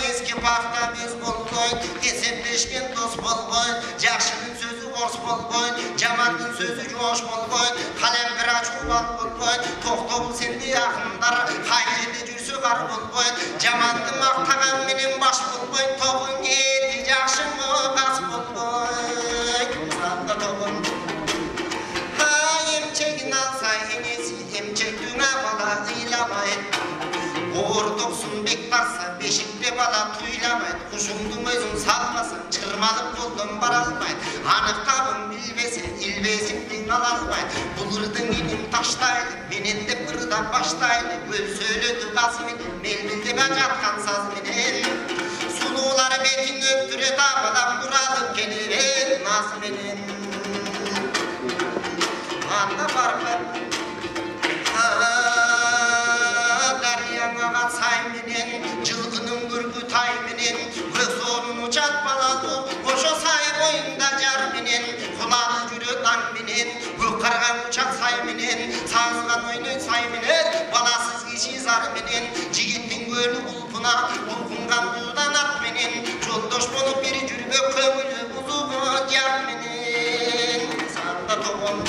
эски пахта без болбойт, эсептешкен дос болбойт, жакшынын сөзү орс болбойт, жамандын сөзү жоош болбойт, калем бир ачуубал болбойт. Токтобул сенди акындар кай жерде жүрсө бар болбойт, жаманды мактаган менен баш болбойт, тобун кетти жакшымы кас болбойт. Санда тобун эмчегин алса энеси, эмчектүүнө бала ыйламайт. Ортоксун бек тарса бешикте бала туйламайт, кушуңдун өзүн салмасаң чырмалып колдон бара албайт. Аныктабын билбесе илбесиңдин ала албайт. Булырдың инин таштайлы, менен деп ырдап баштайлы, өл сөйлөдү каз менен, мелбилдеп жаткан саз менен. Сулуулар бетин өптүрөт, абадан буралып келер наз менен. Анда барбы сай менен, жылкынын көргү тай менен, көз орун учат балалы, ошо сай боюнда жар менен, куланы жүрөт аң менен, көк карган учат сай менен, сазган ойнойт сай менен, баласыз киши зар менен, жигиттин көлү улпуна, улкунган дуудан ат менен, жолдош болуп бири жүрбөк көңүлү бузугу жар менен. Санда тобон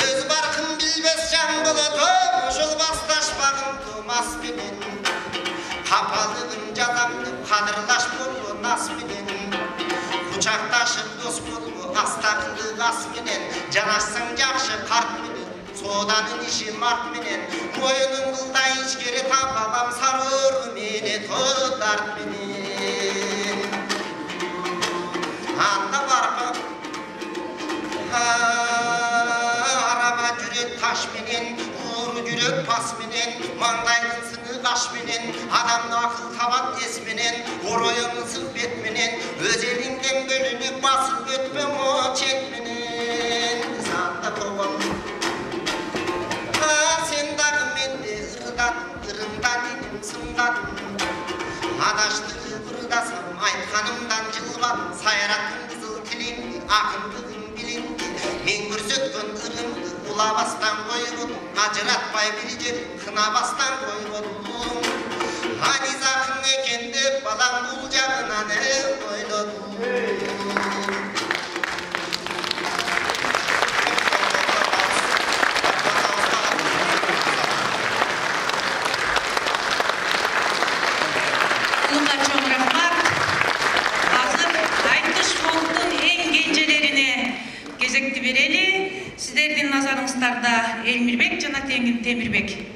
өз баркын билбес жан болот, ошол басташпагын тумас менен, капалыгын жазам деп кадырлаш болду нас менен. Куча жакташып дос болуу астакылдык ас менен жанашсаң жакшы карт менен сооданын иши март менен моюнун кылдай ичкери табалам сары өрү менен дарт менен анда баркы араба жүрөт таш менен ууру жүрөт пас менен маңдайдын сыны каш менен адамды акыл табат эс менен ороюн ысык бет менен өз элиңден бөлүнүп басып өтпө чет менен санда болгон сен дагы менде ырымдан иним сымдадым адаштырып ырдасам айтканымдан жылбадым сайраттым кызыл тилимди акындыгым билимди мен көрсөткөн ырымды улабастан койбодум ажыратпай бир жер кынабастан койбодум Aniz akın ekende balam bul canına ne oynadım. Bunlar çok rahmat. Hazır Aytış Fond'un en gencelerine gezekti bereli. Sizlerden nazarınızda Elmirbek jana Temirbek.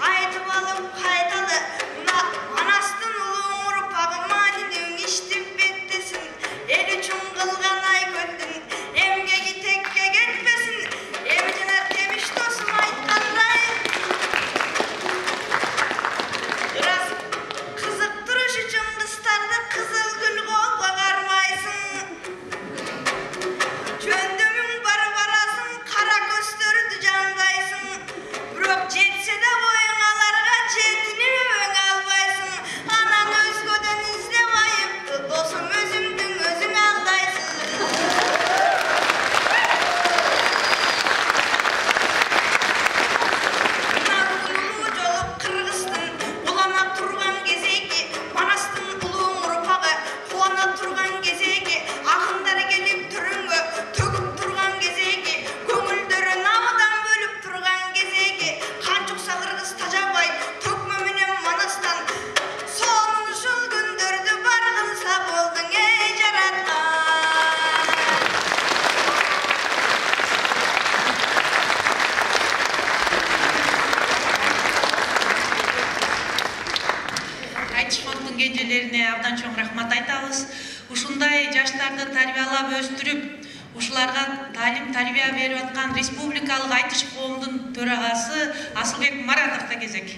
Айтып алып эжелерине абдан чоң рахмат айтабыз. Ушундай жаштарды тарбиялап өстүрүп, ушуларга талим тарбия берип аткан республикалык айтыш коомдун төрагасы Асылбек Маратовго кезек.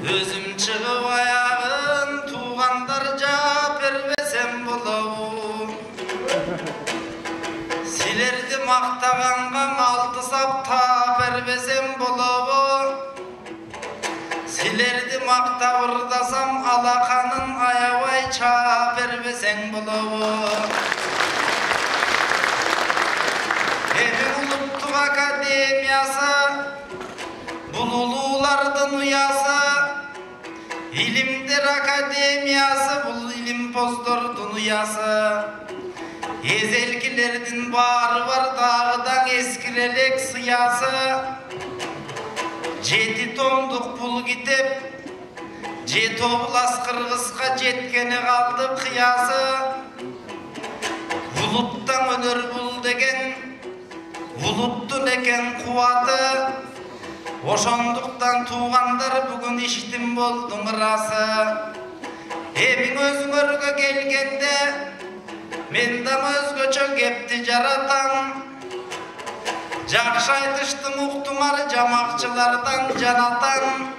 Өзүм чыгып аягын туугандар жаап бербесем болобу. Силерди мактаганга алты сап таап бербесем болобу. Силерди мактап ырдасам алаканын аябай чаап бербесең болобу. Эми улуттук академиясы бул улуулардын уясы, илимдер академиясы бул илимпоздордун уясы. Эзелкилердин баары бар дагыдан эскирелек сыясы. 7 томдук бул китеп, 7 облас Кыргызга жеткени калды кыясы. Улуттан өнөр бул деген, улуттун экен кубаты. Ошондуктан туугандар бүгүн иштин болдум ырасы. Эмиң өзүңөргө келгенде мен да өзгөчө кепти жаратам. Жакшы айтыштым уктуңар жамакчылардан жанатам.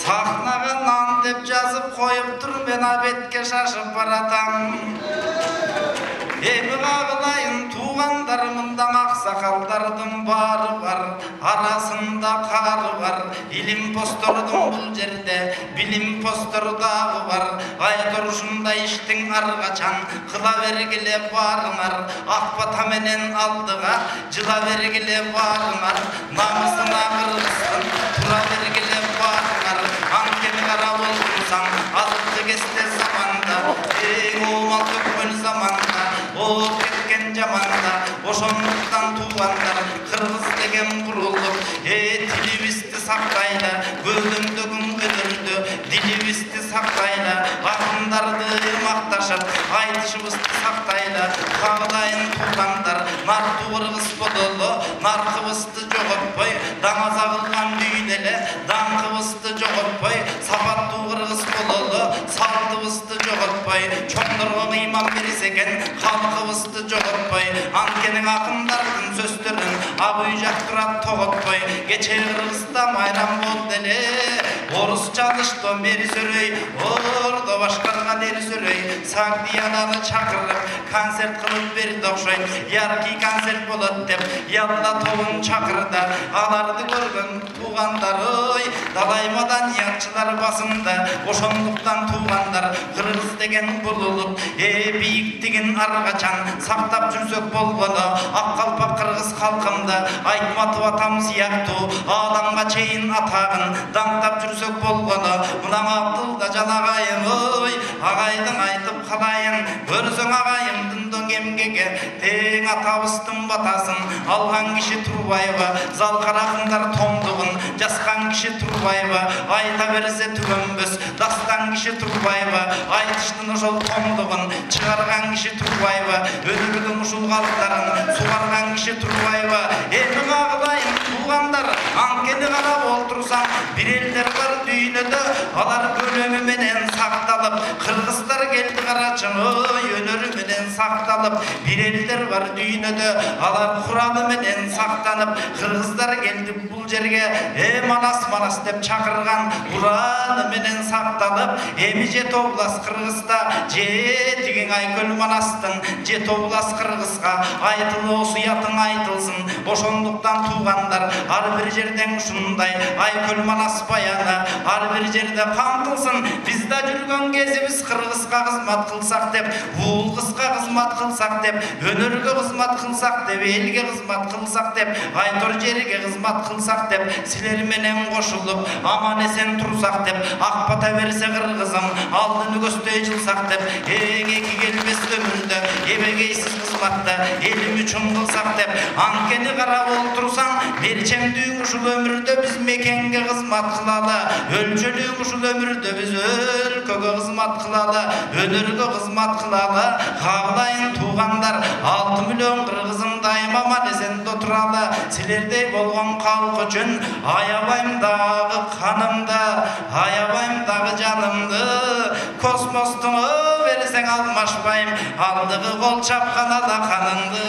Сахнага нан деп жазып коюптур, мен абетке шашып баратам. Эми кагылайын туугандар, мында аксакалдардын баары бар, арасында кары бар. Илим постордун бул жерде билим постор дагы бар. Айтор ушундай иштин аргачан кыла бергиле барыңар. Ак бата менен алдыга жыла бергиле барыңар. Намысына кыргызсын тура бергиле барыңар. Анткени кара болсаң азыкты кесте заманда, эң оомал көкмөл заманда, ооп кеткен жаманда. Ошондуктан туугандар, кыргыз деген бурулуп, тилибизди сактайлы, көзөмдөгүн көтөрдү, дилибизди сактайлы, акындарды макташып, айтышыбызды сактайлы. Кагылайын туугандар, нартуу кыргыз бололу, наркыбызды жоготпой, даңаза кылган дүйнө эле даңкыбызды жоготпой, сапаттуу кыргыз бололу, салтыбызды жоготпой, чоңдорго ыйман берсе экен, халкыбызды жоготпой. Анткени акындардын сөздөрүн абый жактырат тоготпой. Кече Кыргызда майрам болду эле, орусча алышты мери сөрөй, ордо башкарган эр сөрөй. Сагдиянаны чакырып концерт кылып берди окшойт. Яркий концерт болот деп ялла тобун чакырды. Аларды көргөн туугандар, ой, далай маданиятчылар басымда. Ошондуктан туугандар, кыргыз деген булулуп, бийиктигин аргачан сактап жүрсөк болгону. Ак калпак кыргыз калкымды айтматып атам сыяктуу, адамга чейин атагын даңктап жүрсөк болгону. Мына Абдылда жалагайым, ой, агайдың айтып калайын, көрсөң агайымдын доң эмгеге тең атабыздын батасын алган киши Турбаева. Залкаракындар томдугун жазган киши Турбаева. Айта берсе түгөнбөс дастан киши Турбаева. Айтыштын ошол томдугун чыгарган киши Турбаева. Өнөрдүн ушул калыптарын сугарган киши Турбаева. Эми кагылайын туугандар, анткени карап олтурсаң бир элдер бар дүйнөдө, алар көлөмү менен сакталып, кыргыздар келди карачың, ой, өнөрү менен сакталып. Бир элдер бар дүйнөдө, алар куралы менен сактанып, кыргыздар келди бул жерге, манас деп чакырган ураны менен сакталып. Эми 7 облас Кыргызда, жетигиң Айкөл Манастын 7 облас Кыргызга айтылуу суятың айтылсын. Ошондуктан туугандар, ар бир жерден ушундай Айкөл Манас баяны ар бир жерде камтылсын. Бизде жүргөн кезибиз Кыргызга кызмат кылсак деп, уул кызга кызмат кылсак деп, өнөргө кызмат кылсак деп, элге кызмат кылсак деп, айтор жерге кызмат кылсак деп, силер менен кошулуп аман эсен турсак деп, ак бата берсе кыргызым алдыны көздөй жылсак деп, эки келбес өмүрдө эбегейсиз кызматты элим үчүн кылсак деп, анткени карап олтурсаң мерчемдүүң ушул өмүрдө биз мекенге кызмат кылалы, өлчөлүүң ушул өмүрдө биз өлкөгө кызмат кылалы, өнөргө кызмат кылалы, каалайын туугандар 6 миллион кыргызым дайым аман эсен туралы, силердей болгон калк үчүн аябайм дагы канымды, аябайм дагы жанымды, космостуң берсең алмашпайм, алдыгы кол чапкан алаканыңды.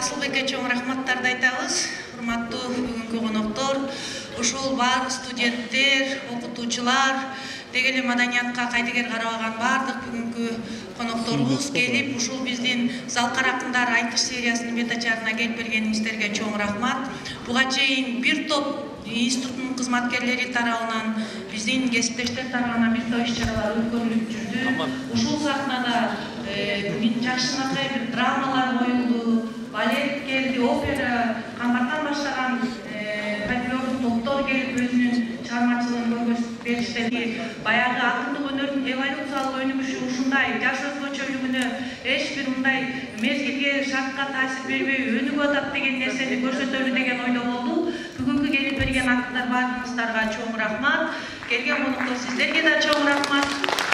Асылбекке чоң рахматтарды айтабыз. Урматтуу бүгүнкү коноктор, ушул бар студенттер, окутуучулар, деги эле маданиятка кайдыгер карабаган бардык бүгүнкү конокторубуз келип, ушул биздин Залкар акындар айтыш сериясынын бет ачарына келип бергениңиздерге чоң рахмат. Буга чейин бир топ институттун кызматкерлери тарабынан, биздин кесиптештер тарабынан бир топ иш-чаралар өткөрүлүп жүрдү. Ушул сахнада жакшынакай бир драмалар коюлду, балет келди, опера, камбартан баштаган фольклордук топтор келип өзүнүн чыгармачылыгын көргөзүп беришти. Баягы акындык өнөрдүн эволюциялык өнүгүшү ушундай жаш өзгөчөлүгүнө эч бир мындай мезгилге, шартка таасир бербей өнүгүп атат деген нерсени көрсөтөлү деген ойдо болду. Бүгүнкү келип берген акындар баарыңыздарга чоң рахмат. Келген коноктор сиздерге да чоң рахмат.